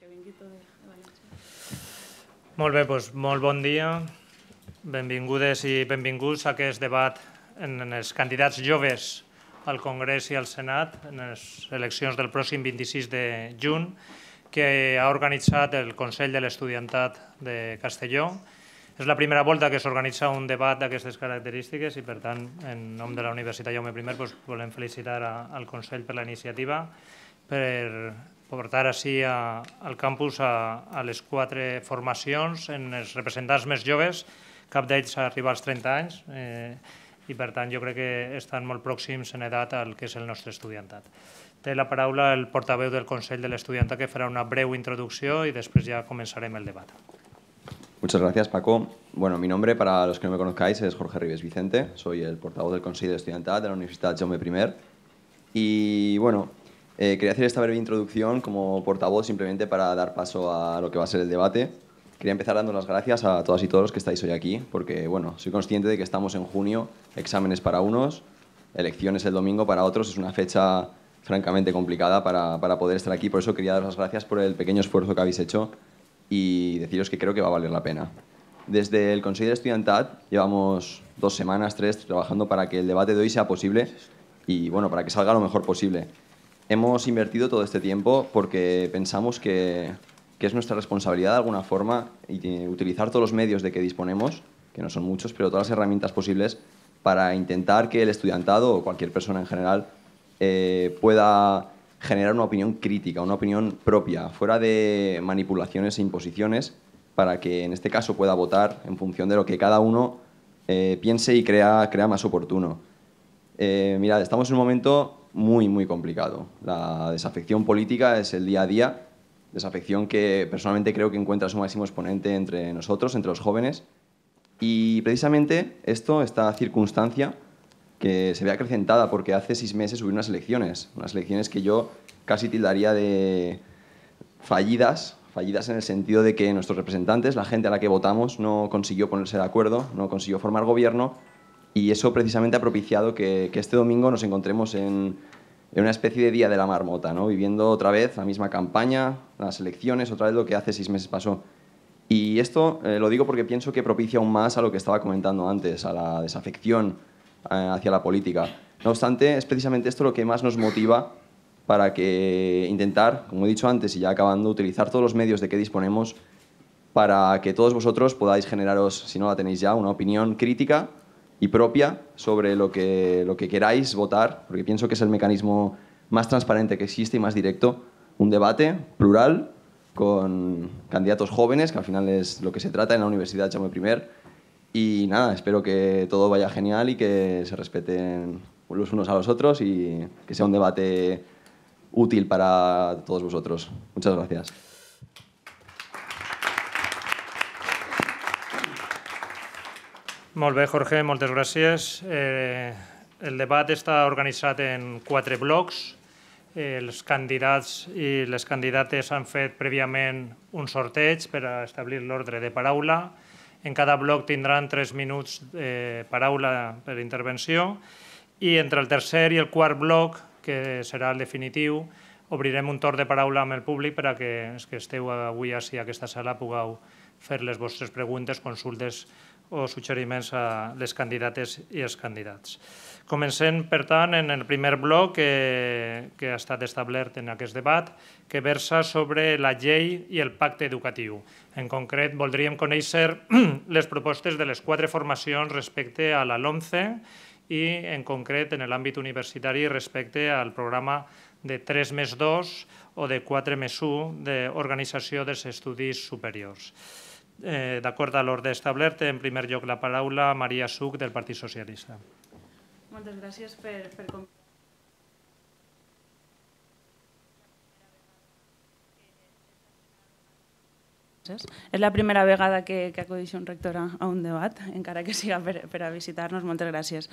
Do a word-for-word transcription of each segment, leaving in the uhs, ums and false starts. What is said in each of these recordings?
que vingui tot de València. Molt bé, doncs molt bon dia. Benvingudes i benvinguts a aquest debat en els candidats joves al Congrés i al Senat en les eleccions del pròxim vint-i-sis de juny que ha organitzat el Consell de l'Estudiantat de Castelló. És la primera volta que s'organitza un debat d'aquestes característiques i, per tant, en nom de la Universitat Jaume primer, doncs, volem felicitar al Consell per la iniciativa, per portar així a, al campus a, a les quatre formacions en els representants més joves, cap d'ells arriba als trenta anys, eh, i per tant jo crec que estan molt pròxims en edat al que és el nostre estudiantat. Té la paraula el portaveu del Consell de l'Estudiantat, que farà una breu introducció i després ja començarem el debat. Muchas gracias, Paco. Bueno, mi nombre, para los que no me conozcáis, es Jorge Ribes Vicente. Soy el portavoz del Consell de Estudiantat de la Universitat Jaume primer. Y bueno, eh, quería hacer esta breve introducción como portavoz simplemente para dar paso a lo que va a ser el debate. Quería empezar dando las gracias a todas y todos los que estáis hoy aquí, porque bueno, soy consciente de que estamos en junio, exámenes para unos, elecciones el domingo para otros. Es una fecha francamente complicada para, para poder estar aquí. Por eso quería daros las gracias por el pequeño esfuerzo que habéis hecho y deciros que creo que va a valer la pena. Desde el Consell de Estudiantat llevamos dos semanas, tres, trabajando para que el debate de hoy sea posible y bueno, para que salga lo mejor posible. Hemos invertido todo este tiempo porque pensamos que, que es nuestra responsabilidad de alguna forma y utilizar todos los medios de que disponemos, que no son muchos, pero todas las herramientas posibles para intentar que el estudiantado o cualquier persona en general eh, pueda generar una opinión crítica, una opinión propia, fuera de manipulaciones e imposiciones, para que en este caso pueda votar en función de lo que cada uno eh, piense y crea, crea más oportuno. Eh, mirad, estamos en un momento muy, muy complicado. La desafección política es el día a día, desafección que personalmente creo que encuentra su máximo exponente entre nosotros, entre los jóvenes, y precisamente esto, esta circunstancia, que se ve acrecentada porque hace seis meses hubo unas elecciones, unas elecciones que yo casi tildaría de fallidas, fallidas en el sentido de que nuestros representantes, la gente a la que votamos, no consiguió ponerse de acuerdo, no consiguió formar gobierno, y eso precisamente ha propiciado que, que este domingo nos encontremos en, en una especie de día de la marmota, ¿no? Viviendo otra vez la misma campaña, las elecciones, otra vez lo que hace seis meses pasó. Y esto eh, lo digo porque pienso que propicia aún más a lo que estaba comentando antes, a la desafección hacia la política. No obstante, es precisamente esto lo que más nos motiva para que intentar, como he dicho antes y ya acabando, utilizar todos los medios de que disponemos para que todos vosotros podáis generaros, si no la tenéis ya, una opinión crítica y propia sobre lo que, lo que queráis votar, porque pienso que es el mecanismo más transparente que existe y más directo. Un debate plural con candidatos jóvenes, que al final es lo que se trata en la Universidad Jaume primer. Y nada, espero que todo vaya genial y que se respeten los unos a los otros y que sea un debate útil para todos vosotros. Muchas gracias. Molt bé, Jorge, moltes gràcies. Eh, el debat està organitzat en quatre blocs. Eh, els candidats i les candidates han fet prèviament un sorteig per a establir l'ordre de paraula. En cada bloc tindran tres minuts de paraula per intervenció i entre el tercer i el quart bloc, que serà el definitiu, obrirem un torn de paraula amb el públic per a que els que esteu avui ací a aquesta sala pugueu fer les vostres preguntes, consultes o suggeriments a les candidates i els candidats. Comencem, per tant, en el primer bloc que, que ha estat establert en aquest debat, que versa sobre la llei i el pacte educatiu. En concret, voldríem conèixer les propostes de les quatre formacions respecte a la LOMCE i, en concret, en l'àmbit universitari respecte al programa de tres més dos o de quatre més u d'organització dels estudis superiors. Eh, D'acord a l'ordre establert, en primer lloc la paraula a Maria Such, del Partit Socialista. Moltes gràcies per, per És la primera vegada que, que acudeix un rector a, a un debat, encara que siga per, per a visitar-nos. Moltes gràcies.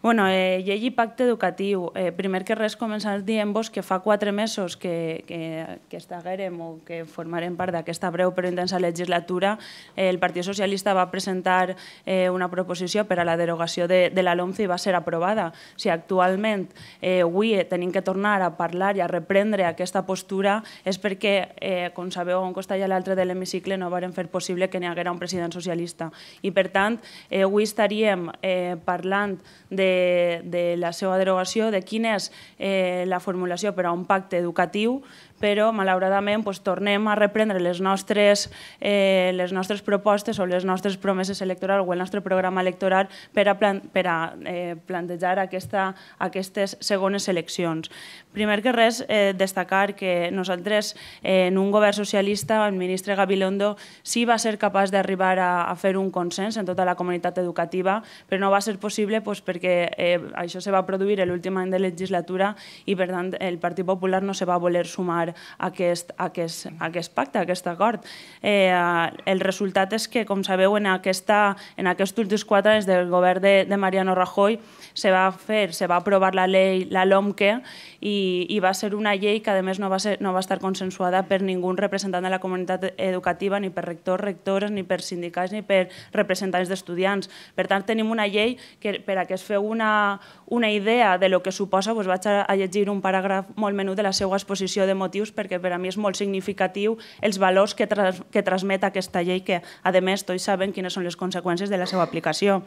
Bueno, eh, llei i pacte educatiu. Eh, primer que res, començar dient-vos que fa quatre mesos que, que, que estaguérem o que formarem part d'aquesta breu però intensa legislatura, eh, el Partit Socialista va presentar eh, una proposició per a la derogació de, de la LOMCE i va ser aprovada. O sigui, actualment, eh, avui tenim que tornar a parlar i a reprendre aquesta postura és perquè, eh, com sabeu, a un costat i a l'altre de l'hemicicle no varen fer possible que n'hi haguera un president socialista. I, per tant, eh, avui estaríem eh, parlant de, de la seva derogació, de quina és eh, la formulació per a un pacte educatiu, però, malauradament, doncs, tornem a reprendre les nostres, eh, les nostres propostes o les nostres promeses electorals o el nostre programa electoral per a, plan, per a eh, plantejar aquesta, aquestes segones eleccions. Primer que res, eh, destacar que nosaltres, eh, en un govern socialista, el ministre Gabilondo sí va ser capaç d'arribar a, a fer un consens en tota la comunitat educativa, però no va ser possible doncs, perquè eh, això se va produir l'últim any de legislatura i, per tant, el Partit Popular no se va voler sumar a aquest, a aquest, a aquest pacte, a aquest acord. Eh, el resultat és que, com sabeu, en, aquesta, en aquests últims quatre anys del govern de, de Mariano Rajoy se va fer, se va aprovar la llei, la LOMQE, i, i va ser una llei que, a més, no va, ser, no va estar consensuada per ningú representant de la comunitat educativa, ni per rectors, rectores, ni per sindicats, ni per representants d'estudiants. Per tant, tenim una llei que, per a que es feu una, una idea de lo que suposa, doncs vaig a, a llegir un paràgraf molt menut de la seva exposició de motius, perquè per a mi és molt significatiu els valors que, tras, que transmet aquesta llei, que, a més, tots saben quines són les conseqüències de la seva aplicació.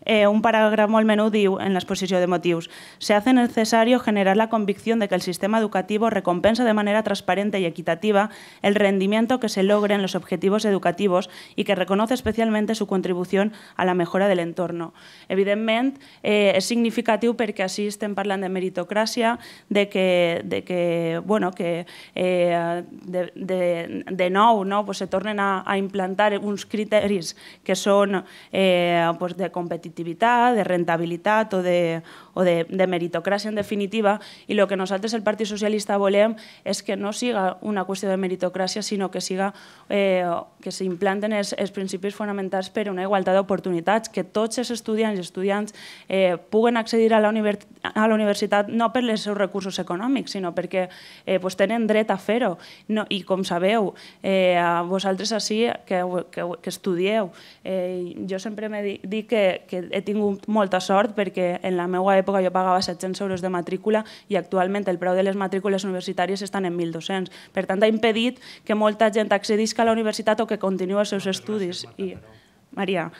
Eh, un paràgraf molt menut diu, en l'exposició de motius, se hace necesario generar la convicción de que el sistema educativo recompensa de manera transparente y equitativa el rendimiento que se logre en los objetivos educativos y que reconoce especialmente su contribución a la mejora del entorno. Evidentment, eh, és significatiu perquè així estem parlant de meritocràcia, de que, de que, bueno, que eh, de, de, de nou no, pues se tornen a, a implantar uns criteris que són eh, pues de competitivitat, de rentabilitat o de, o de, de meritocràcia en definitiva, i el que nosaltres, el Partit Socialista, volem és que no siga una qüestió de meritocràcia, sinó que siga eh, que s'implanten els, els principis fonamentals per a una igualtat d'oportunitats, que tots els estudiants i estudiants eh, puguen accedir a la, univers a la universitat no per els seus recursos econòmics, sinó perquè eh, pues tenen dret a fer-ho. No, I com sabeu, eh, vosaltres així que, que, que estudieu, eh, jo sempre me dic que, que he tingut molta sort perquè en la meva època jo pagava set-cents euros de matrícula i actualment el preu de les matrícules universitàries estan en mil dos-cents. Per tant, ha impedit que molta gent accedisca a la universitat o que continuï els seus estudis. I, Maria,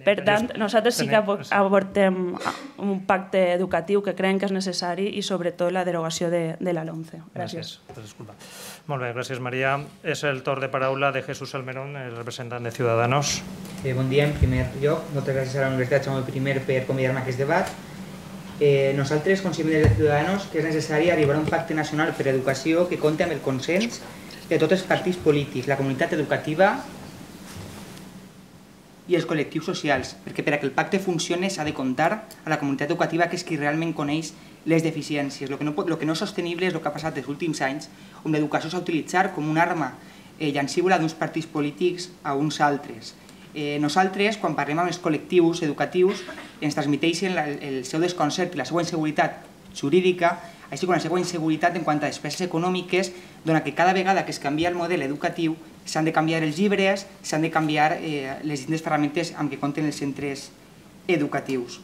per tant, nosaltres sí que aportem un pacte educatiu que creiem que és necessari i sobretot la derogació de, de la LOMCE. Gràcies. Disculpa. Molt bé, gràcies, Maria. És el torn de paraula de Jesús Almerón, el representant de Ciudadanos. Eh, bon dia, en primer lloc. Moltes gràcies a la Universitat Jaume primer per convidar-me a aquest debat. Eh, nosaltres considerem des de Ciudadanos que és necessari arribar a un pacte nacional per a educació que compti amb el consens de tots els partits polítics, la comunitat educativa i els col·lectius socials, perquè per a que el pacte funcioni s'ha de comptar a la comunitat educativa, que és qui realment coneix les deficiències. El que no, pot, el que no és sostenible és el que ha passat els últims anys, on l'educació s'ha utilitzat com una arma eh, llancívola d'uns partits polítics a uns altres. Eh, nosaltres, quan parlem amb els col·lectius educatius, ens transmiteixen la, el seu desconcert i la seva inseguretat jurídica, així com la seva inseguretat en quant a despeses econòmiques, dona que cada vegada que es canvia el model educatiu s'han de canviar els llibres, s'han de canviar eh, les distintes ferramentes amb què compten els centres educatius.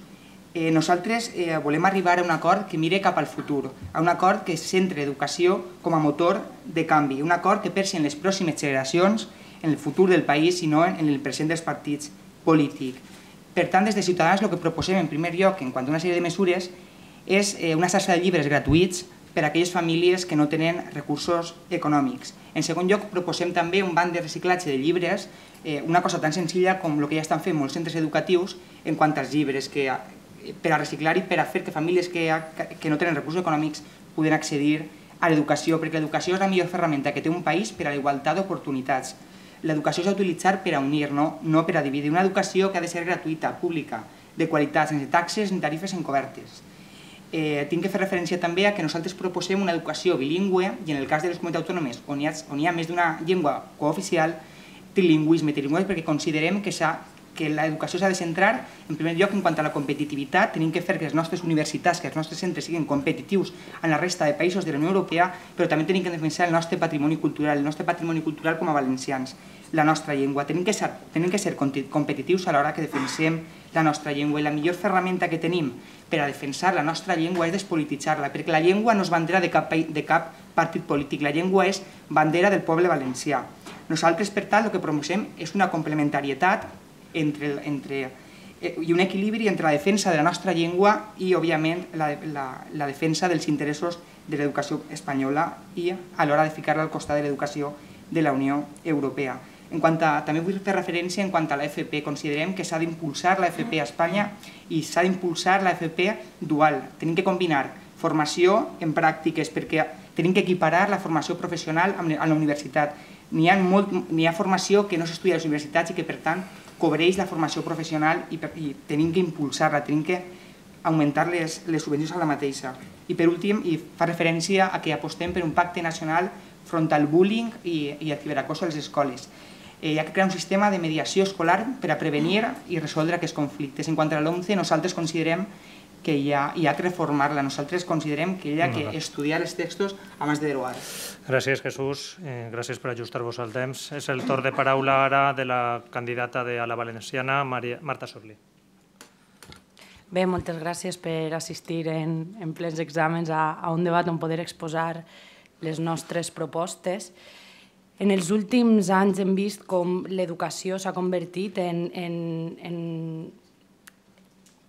Eh, nosaltres eh, volem arribar a un acord que mire cap al futur, a un acord que centre l'educació com a motor de canvi, un acord que pensi en les pròximes generacions, en el futur del país i no en el present dels partits polítics. Per tant, des de Ciutadans el que proposem en primer lloc, en quant a una sèrie de mesures, és una xarxa de llibres gratuïts per a aquelles famílies que no tenen recursos econòmics. En segon lloc, proposem també un banc de reciclatge de llibres, una cosa tan senzilla com el que ja estan fent molts centres educatius en quant als llibres, per a reciclar i per a fer que famílies que no tenen recursos econòmics puguen accedir a l'educació, perquè l'educació és la millor ferramenta que té un país per a la igualtat d'oportunitats. L'educació s'ha d'utilitzar per a unir, no per a dividir. Una educació que ha de ser gratuïta, pública, de qualitat, sense taxes ni tarifes encobertes. Eh, tinc que fer referència també a que nosaltres proposem una educació bilingüe i en el cas de les comunitats autònomes on hi ha, on hi ha més d'una llengua cooficial, trilingüisme, trilingüisme, perquè considerem que, que l'educació s'ha de centrar en primer lloc en quant a la competitivitat. Tenim que fer que les nostres universitats, que els nostres centres siguin competitius en la resta de països de la Unió Europea, però també tenim que defensar el nostre patrimoni cultural, el nostre patrimoni cultural com a valencians, la nostra llengua. Tenim que ser, tenim que ser competitius a l'hora que defensem la nostra llengua i la millor ferramenta que tenim per a defensar la nostra llengua és despolititzar-la, perquè la llengua no és bandera de cap, de cap partit polític, la llengua és bandera del poble valencià. Nosaltres, per tant, el que proposem és una complementarietat entre, entre, i un equilibri entre la defensa de la nostra llengua i, òbviament, la, la, la defensa dels interessos de l'educació espanyola i a l'hora de ficar-la al costat de l'educació de la Unió Europea. En quant a, també vull fer referència en quant a l'F P. Considerem que s'ha d'impulsar l'F P a Espanya i s'ha d'impulsar l'F P dual. Tenim que combinar formació en pràctiques perquè tenim que equiparar la formació professional a la universitat. N'hi ha, molt, n'hi ha formació que no s'estudia a les universitats i que, per tant, cobreix la formació professional i, per, i tenim que impulsar-la, tenim que augmentar les, les subvencions a la mateixa. I per últim, i fa referència a que apostem per un pacte nacional front al bullying i, i al ciberacoso a les escoles. Eh, hi ha que crear un sistema de mediació escolar per a prevenir i resoldre aquests conflictes. En quant a l'OMCE, nosaltres considerem que hi ha, hi ha que reformar-la. Nosaltres considerem que hi ha que estudiar els textos abans de derogar. Gràcies, Jesús. Eh, gràcies per ajustar-vos al temps. És el torn de paraula ara de la candidata de a la valenciana, Maria, Marta Sorli. Bé, moltes gràcies per assistir en, en plens exàmens a, a un debat on poder exposar les nostres propostes. En els últims anys hem vist com l'educació s'ha convertit en, en, en,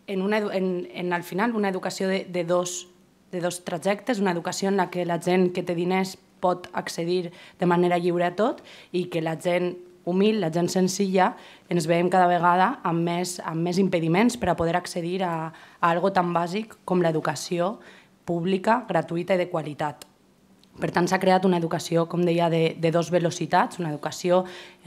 en, una, en, en al final una educació de, de, dos, de dos trajectes, una educació en la que la gent que té diners pot accedir de manera lliure a tot i que la gent humil, la gent senzilla, ens veiem cada vegada amb més, amb més impediments per a poder accedir a, a algo tan bàsic com l'educació pública, gratuïta i de qualitat. Per tant, s'ha creat una educació, com deia, de, de dos velocitats, una educació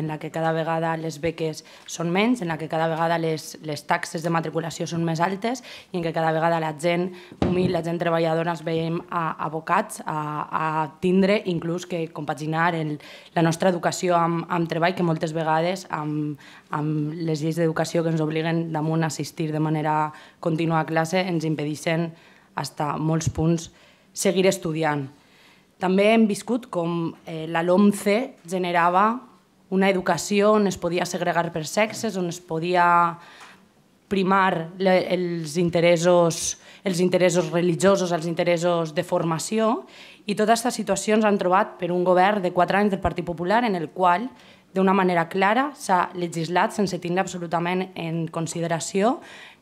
en la que cada vegada les beques són menys, en la que cada vegada les, les taxes de matriculació són més altes i en què cada vegada la gent humil, la gent treballadora, ens veiem abocats a, a tindre inclús que compaginar el, la nostra educació amb, amb treball, que moltes vegades amb, amb les lleis d'educació que ens obliguen damunt a assistir de manera contínua a classe ens impedeixen fins a molts punts seguir estudiant. També hem viscut com eh, la LOMCE generava una educació on es podia segregar per sexes, on es podia primar le, els, interessos, els interessos religiosos, els interessos de formació, i totes aquestes situacions han trobat per un govern de quatre anys del Partit Popular en el qual, d'una manera clara, s'ha legislat sense tindre absolutament en consideració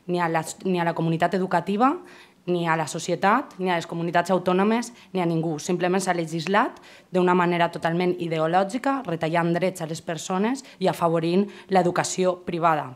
ni a la, ni a la comunitat educativa, ni a la societat, ni a les comunitats autònomes, ni a ningú. Simplement s'ha legislat d'una manera totalment ideològica, retallant drets a les persones i afavorint l'educació privada.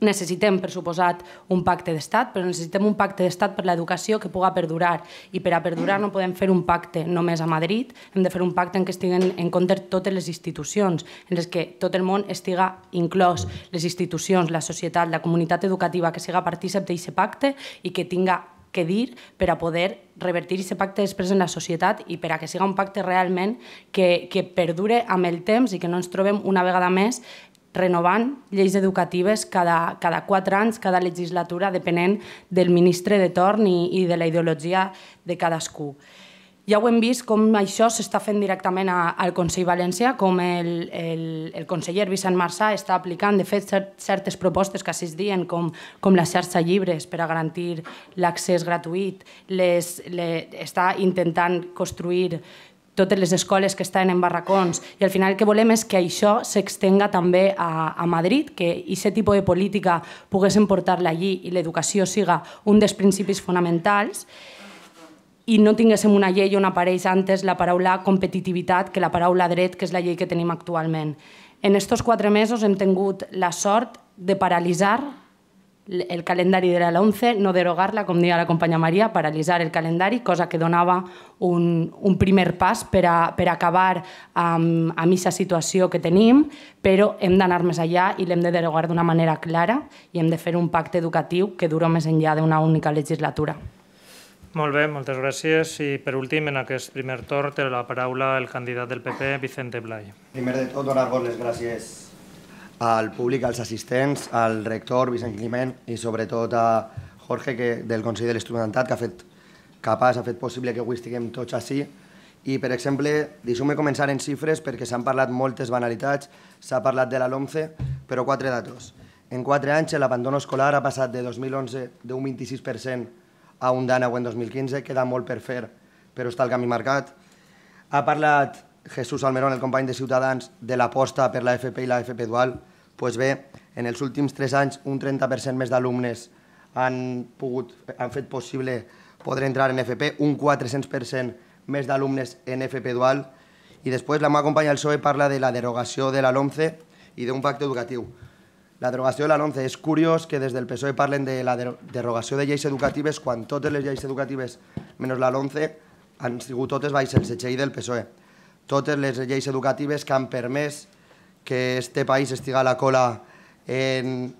Necessitem, per suposat, un pacte d'estat, però necessitem un pacte d'estat per l'educació que pugui perdurar. I per a perdurar no podem fer un pacte només a Madrid, hem de fer un pacte en què estiguen en compte totes les institucions, en les que tot el món estiga inclòs, les institucions, la societat, la comunitat educativa, que siga partícip d'aquest pacte i que tinga que dir per a poder revertir aquest pacte després en la societat i per a que siga un pacte realment que, que perdure amb el temps i que no ens trobem una vegada més renovant lleis educatives cada, cada quatre anys, cada legislatura, depenent del ministre de torn i, i de la ideologia de cadascú. Ja ho hem vist com això s'està fent directament a, al Consell Valencià, com el, el, el conseller Vicent Marsà està aplicant, de fet, cert, certes propostes que s'hi diuen, com, com la xarxa llibres per a garantir l'accés gratuït, les, les, està intentant construir totes les escoles que estan en barracons i al final el que volem és que això s'extenga també a, a Madrid, que aquest tipus de política poguessin portar-la allí i l'educació siga un dels principis fonamentals i no tinguéssim una llei on apareix antes la paraula competitivitat que la paraula dret, que és la llei que tenim actualment. En aquests quatre mesos hem tingut la sort de paralitzar el calendari de la LOMCE, no derogar-la, com deia la companya Maria, paralitzar el calendari, cosa que donava un, un primer pas per a, per a acabar amb, amb aquesta situació que tenim, però hem d'anar més allà i l'hem de derogar d'una manera clara i hem de fer un pacte educatiu que dura més enllà d'una única legislatura. Molt bé, moltes gràcies. I per últim, en aquest primer torn, té la paraula el candidat del P P, Vicente Blay. Primer de tot, donar-vos les gràcies al públic, als assistents, al rector Vicent Climent i sobretot a Jorge que, del Consell de l'Estudiantat, que ha fet capaç, ha fet possible que avui estiguem tots així. I, per exemple, deixeu-me començar en xifres perquè s'han parlat moltes banalitats, s'ha parlat de la LOMCE, però quatre datos. En quatre anys l'abandono escolar ha passat de dos mil onze d'un vint-i-sis per cent a un dènou en dos mil quinze, queda molt per fer, però està el camí marcat. Ha parlat Jesús Almerón, el company de Ciutadans, de l'aposta per la F P i la F P dual. Doncs bé, en els últims tres anys un trenta per cent més d'alumnes han, pogut, han fet possible poder entrar en F P, un quatre-cents per cent més d'alumnes en F P dual. I després la meva companya del P S O E parla de la derogació de la LOMCE i d'un pacte educatiu. La derogació de la LOMCE. És curiós que des del P S O E parlen de la derogació de lleis educatives quan totes les lleis educatives, menys la LOMCE, han sigut totes baix el setxell del P S O E. Totes les lleis educatives que han permès que este país estigui a la cola en,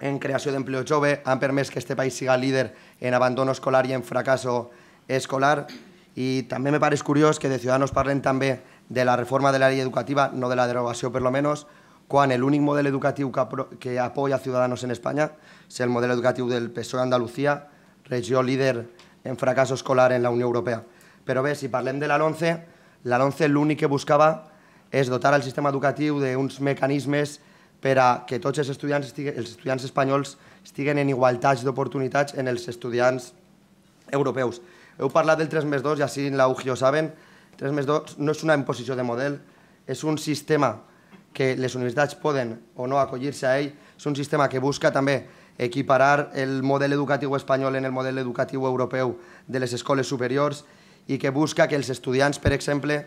en creació d'empleo jove, han permès que este país siga líder en abandono escolar i en fracasso escolar. I també me pareix curiós que de Ciudadanos parlen també de la reforma de la llei educativa, no de la derogació per lo menos, quan l'únic model educatiu que apoya Ciudadanos en Espanya és el model educatiu del P S O E a Andalucía, regió líder en fracasso escolar en la Unió Europea. Però bé, si parlem de la LOMCE, la LOMCE l'únic que buscava és dotar el sistema educatiu d'uns mecanismes per a que tots els estudiants, els estudiants espanyols estiguen en igualtats d'oportunitats en els estudiants europeus. Heu parlat del tres més dos i així la U G I ho saben. tres més dos no és una imposició de model, és un sistema que les universitats poden o no acollir-se a ell, és un sistema que busca també equiparar el model educatiu espanyol en el model educatiu europeu de les escoles superiors i que busca que els estudiants, per exemple,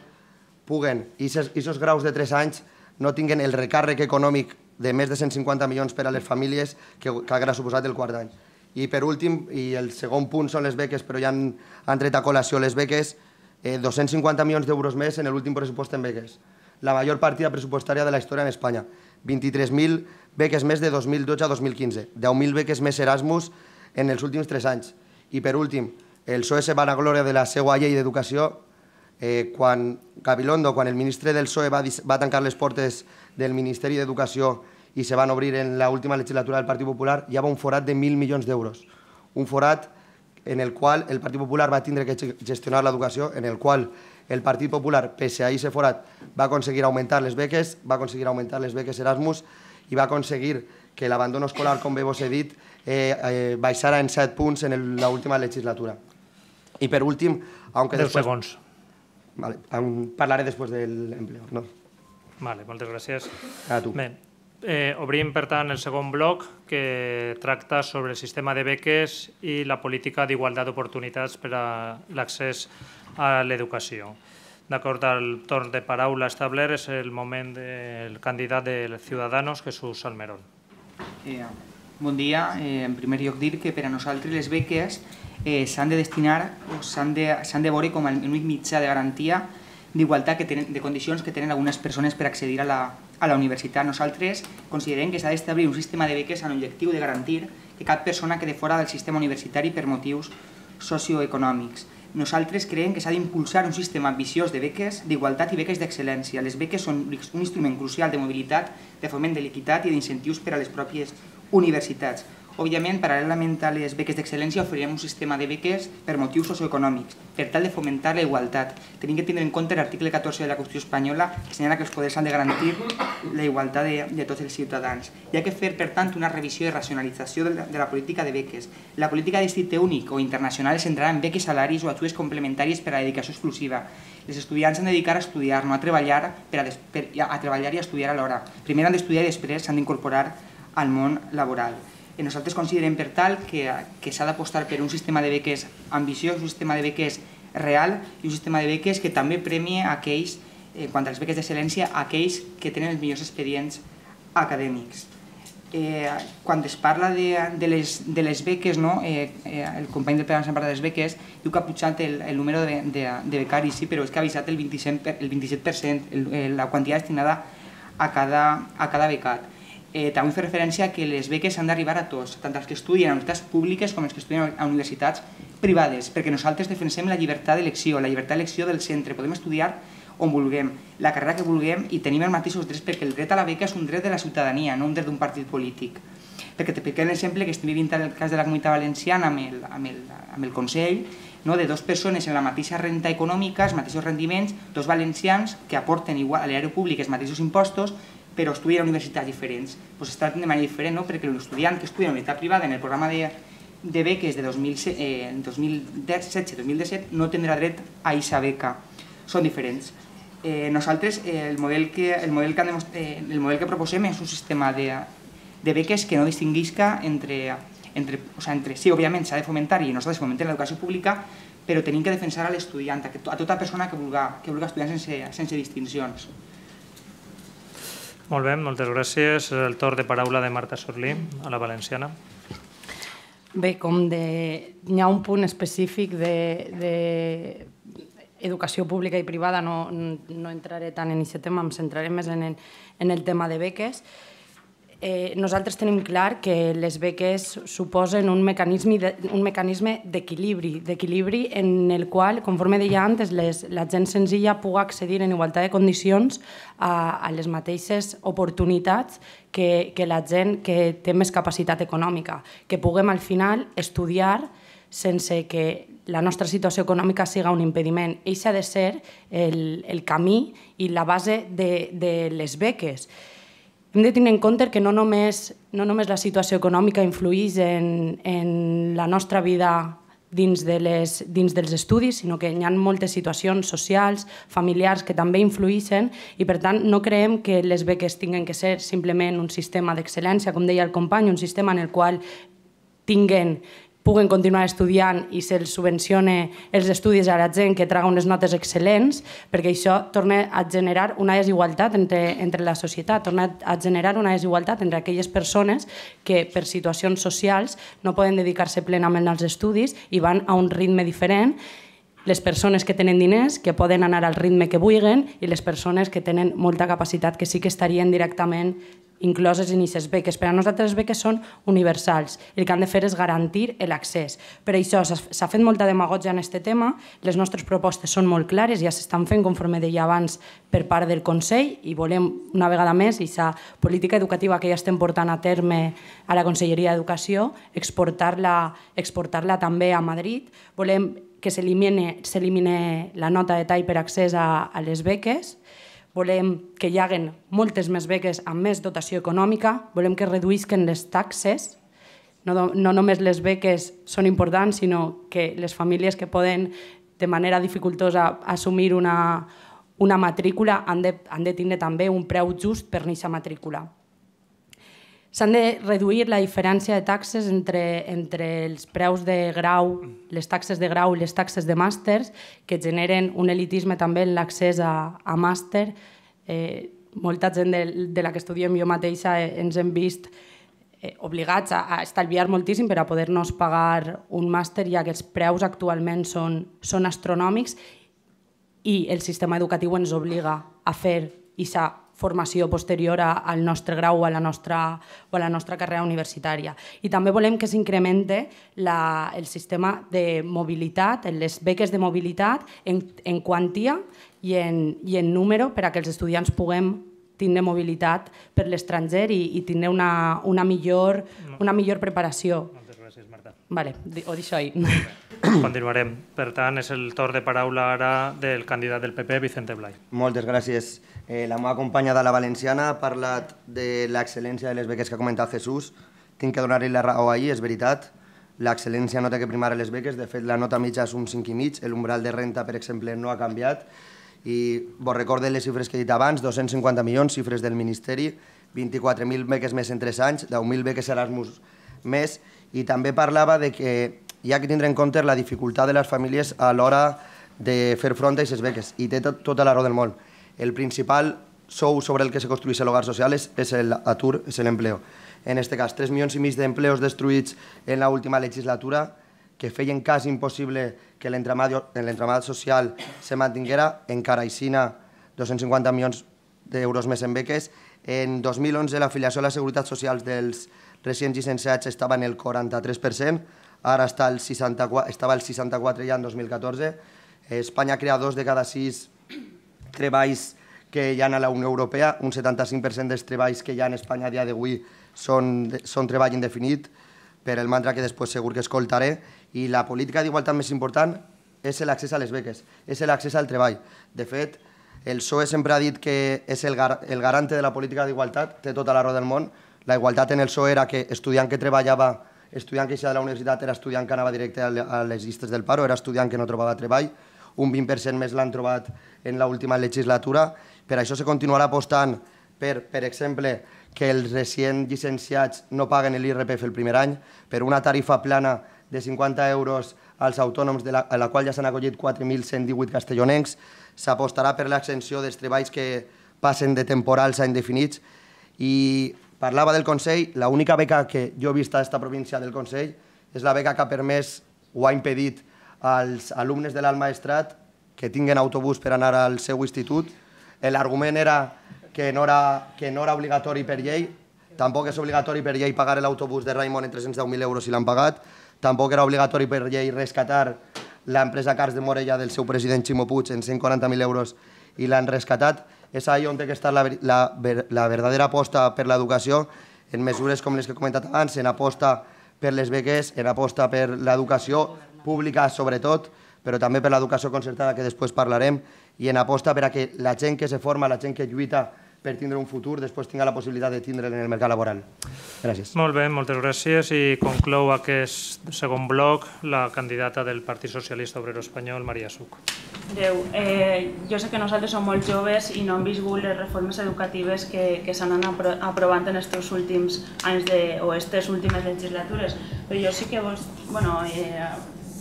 puguen, i aquests graus de tres anys no tinguin el recàrrec econòmic de més de cent cinquanta milions per a les famílies que, que haurà suposat el quart any. I per últim, i el segon punt són les beques, però ja han, han tret a col·lació les beques, eh, dos-cents cinquanta milions d'euros més en l'últim pressupost en beques. La major partida pressupostària de la història en Espanya. vint-i-tres mil beques més de dos mil dotze a dos mil quinze. deu mil beques més Erasmus en els últims tres anys. I per últim, el P S O E se vanaglòria de la seva llei d'educació. Eh, quan Gabilondo, quan el ministre del P S O E va, va tancar les portes del Ministeri d'Educació i se van obrir en l'última legislatura del Partit Popular, hi havia un forat de mil milions d'euros. Un forat en el qual el Partit Popular va tindre que gestionar l'educació, en el qual el Partit Popular, pese a aquest forat, va aconseguir augmentar les beques, va aconseguir augmentar les beques Erasmus i va aconseguir que l'abandono escolar, com bé vos he dit, eh, eh, baixara en set punts en l'última legislatura. I per últim, aunque Deu después... segons. Vale, parlaré després del empleo. No? Vale, moltes gràcies. A tu. Bé, eh, obrim, per tant, el segon bloc que tracta sobre el sistema de beques i la política d'igualtat d'oportunitats per a l'accés a l'educació. D'acord al torn de paraula establert, és el moment del candidat de Ciudadanos, Jesús Almerón. Eh, bon dia. Eh, en primer lloc dir que per a nosaltres les beques eh, s'han de destinar o s'han de, s'han de veure com l'únic mitjà de garantia d'igualtat que tenen, de condicions que tenen algunes persones per accedir a la, a la universitat. Nosaltres considerem que s'ha d'establir un sistema de beques amb l'objectiu de garantir que cap persona quede fora del sistema universitari per motius socioeconòmics. Nosaltres creiem que s'ha d'impulsar un sistema ambiciós de beques d'igualtat i beques d'excel·lència. Les beques són un instrument crucial de mobilitat, de foment de l'equitat i d'incentius per a les pròpies universitats. Òbviament, paral·lelament a les beques d'excel·lència, oferirem un sistema de beques per motius socioeconòmics, per tal de fomentar la igualtat. Tenim que tenir en compte l'article catorze de la Constitució espanyola, que assenyala que els poders han de garantir la igualtat de, de tots els ciutadans. Hi ha que fer, per tant, una revisió i racionalització de la, de la política de beques. La política d'institut únic o internacional es centrarà en beques, salaris o ajudes complementàries per a la dedicació exclusiva. Els estudiants s'han de dedicar a estudiar, no a treballar, per a, des, per, a treballar i a estudiar alhora. Primer han d'estudiar i després s'han d'incorporar al món laboral. Nosaltres considerem, per tal, que, que s'ha d'apostar per un sistema de beques ambiciós, un sistema de beques real i un sistema de beques que també premie aquells, eh, quant a les beques d'excel·lència, aquells que tenen els millors expedients acadèmics. Eh, quan es parla de, de, les, de les beques, no? eh, eh, el company del P S O E parla de les beques, diu que ha pujat el, el número de, de, de becaris, sí, però és que ha avisat el vint-i-set per cent, el, la quantitat destinada a cada, a cada becat. Eh, també fer referència a que les beques han d'arribar a tots, tant els que estudien a universitats públiques com els que estudien a universitats privades, perquè nosaltres defensem la llibertat d'elecció, la llibertat d'elecció del centre, podem estudiar on vulguem, la carrera que vulguem i tenim els mateixos drets, perquè el dret a la beca és un dret de la ciutadania, no un dret d'un partit polític. Perquè te piquem l'exemple que estem vivint en el cas de la Comunitat Valenciana amb el, amb el, amb el Consell, no? De dues persones en la mateixa renta econòmica, els mateixos rendiments, dos valencians que aporten igual a l'erari públic els mateixos impostos, però estudien a universitats diferents. Pues es tracten de manera diferent, no? Perquè l'estudiant que estudia en universitat privada en el programa de, de beques de dos mil setze dos mil disset no tindrà dret a aquesta beca. Són diferents. Eh, nosaltres eh, el, model que, el, model que han eh, el model que proposem és un sistema de, de beques que no distinguisca entre, entre, o sea, entre sí, òbviament s'ha de fomentar i nosaltres fomentem l'educació pública, però tenim que defensar a l'estudiant, a, a tota persona que vulgui, que vulgui estudiar sense, sense distincions. Molt bé, moltes gràcies. El torn de paraula de Marta Sorlí, a la Valenciana. Bé, com de... Hi ha un punt específic de... de... educació pública i privada, no, no entraré tant en aquest tema, em centraré més en el, en el tema de beques. Eh, nosaltres tenim clar que les beques suposen un mecanisme, de, un mecanisme d'equilibri, d'equilibri en el qual, conforme deia antes, les, la gent senzilla pugui accedir en igualtat de condicions a, a les mateixes oportunitats que, que la gent que té més capacitat econòmica, que puguem al final estudiar sense que la nostra situació econòmica siga un impediment. Eixa ha de ser el, el camí i la base de, de les beques. Hem de tenir en compte que no només, no només la situació econòmica influïx en, en la nostra vida dins, de les, dins dels estudis, sinó que hi ha moltes situacions socials, familiars, que també influïxen i, per tant, no creiem que les beques tinguin que ser simplement un sistema d'excel·lència, com deia el company, un sistema en el qual tinguen puguen continuar estudiant i se'ls subvenciona els estudis a la gent que traga unes notes excel·lents, perquè això torna a generar una desigualtat entre, entre la societat, torna a generar una desigualtat entre aquelles persones que per situacions socials no poden dedicar-se plenament als estudis i van a un ritme diferent, les persones que tenen diners, que poden anar al ritme que vulguin, i les persones que tenen molta capacitat, que sí que estarien directament incloses en aquestes beques. Per a nosaltres les beques són universals. El que han de fer és garantir l'accés. Per això s'ha fet molta demagògia en aquest tema, les nostres propostes són molt clares, ja s'estan fent, conforme deia abans, per part del Consell, i volem, una vegada més, aquesta política educativa que ja estem portant a terme a la Conselleria d'Educació, exportar-la exportar-la també a Madrid. Volem que s'elimine la nota de tall per accés a, a les beques. Volem que hi hagi moltes més beques amb més dotació econòmica, volem que reduïsquen les taxes, no, no només les beques són importants, sinó que les famílies que poden de manera dificultosa assumir una, una matrícula han de, han de tindre també un preu just per aquesta matrícula. S'han de reduir la diferència de taxes entre, entre els preus de grau, les taxes de grau i les taxes de màsters, que generen un elitisme també en l'accés a, a màster. Eh, molta gent de, de la que estudiem jo mateixa eh, ens hem vist eh, obligats a, a estalviar moltíssim per a poder-nos pagar un màster, ja que els preus actualment són, són astronòmics i el sistema educatiu ens obliga a fer aquesta formació posterior al nostre grau o a la nostra, o a la nostra carrera universitària. I també volem que s'incremente el sistema de mobilitat, les beques de mobilitat en, en quantia i en, i en número per a que els estudiants puguem tindre mobilitat per l'estranger i, i tindre una, una, millor, una millor preparació. Moltes gràcies, Marta. Vale, ho deixo ahí. Continuarem. Per tant, és el torn de paraula ara del candidat del P P, Vicente Blay. Moltes gràcies. Eh, la meva companya de la Valenciana ha parlat de l'excel·lència de les beques que ha comentat Jesús. Tinc que donar-li la raó ahir, és veritat. L'excel·lència no té que primar a les beques. De fet, la nota mitja és un cinc i mig. L'umbral de renta, per exemple, no ha canviat. I vos recorde les xifres que he dit abans, dos-cents cinquanta milions, xifres del Ministeri, vint-i-quatre mil beques més en tres anys, deu mil beques Erasmus més, i també parlava de que hi ha que tindre en compte la dificultat de les famílies a l'hora de fer front a aquestes beques, i té tot, tota la raó del món. El principal sou sobre el que se construeix l'hogar social és, és l'atur, és l'empleo. En aquest cas, tres milions i mig d'empleos destruïts en l'última legislatura, que feien quasi impossible que l'entramat social se mantinguera, encara aixina dos-cents cinquanta milions d'euros més en beques. En dos mil onze l'afiliació a la Seguretat Social dels residents llicenciats estava en el quaranta-tres per cent, ara està el seixanta-quatre, estava el seixanta-quatre ja en dos mil catorze. Espanya crea dos de cada sis treballs que hi ha a la Unió Europea, un setanta-cinc per cent dels treballs que hi ha en Espanya a dia d'avui són, són treball indefinit, per el mantra que després segur que escoltaré, i la política d'igualtat més important és l'accés a les beques, és l'accés al treball. De fet, el P S O E sempre ha dit que és el, gar el garante de la política d'igualtat, té tota la raó del món. La igualtat en el P S O E era que estudiant que treballava, estudiant que eixia de la universitat era estudiant que anava directe a les llistes del paro, era estudiant que no trobava treball, un vint per cent més l'han trobat en l'última legislatura. Per això se continuarà apostant per, per exemple, que els recient llicenciats no paguen l'I R P F el primer any, per una tarifa plana de cinquanta euros als autònoms, de la, a la qual ja s'han acollit quatre mil cent divuit castellonencs. S'apostarà per l'extensió dels treballs que passen de temporals a indefinits. I parlava del Consell, l'única beca que jo he vist a aquesta província del Consell és la beca que ha permès o ha impedit als alumnes de l'Alt Maestrat que tinguen autobús per anar al seu institut. L'argument era que no era, que no era obligatori per llei, tampoc és obligatori per llei pagar l'autobús de Raimon en tres-cents deu mil euros si l'han pagat, tampoc era obligatori per llei rescatar l'empresa Cars de Morella del seu president Ximo Puig en cent quaranta mil euros i l'han rescatat. És ahí on té que estar la, la, la verdadera aposta per l'educació, en mesures com les que he comentat abans, en aposta per les beques, en aposta per l'educació pública sobretot, però també per l'educació concertada, que després parlarem, i en aposta per a que la gent que se forma, la gent que lluita per tindre un futur, després tinga la possibilitat de tindre'l en el mercat laboral. Gràcies. Molt bé, moltes gràcies. I conclou aquest segon bloc la candidata del Partit Socialista Obrero Espanyol, Maria Such. Déu, eh, jo sé que nosaltres som molt joves i no hem viscut les reformes educatives que, que s'han anat apro aprovant en aquests últims anys de, o aquestes últimes legislatures, però jo sí que vos, bueno, eh,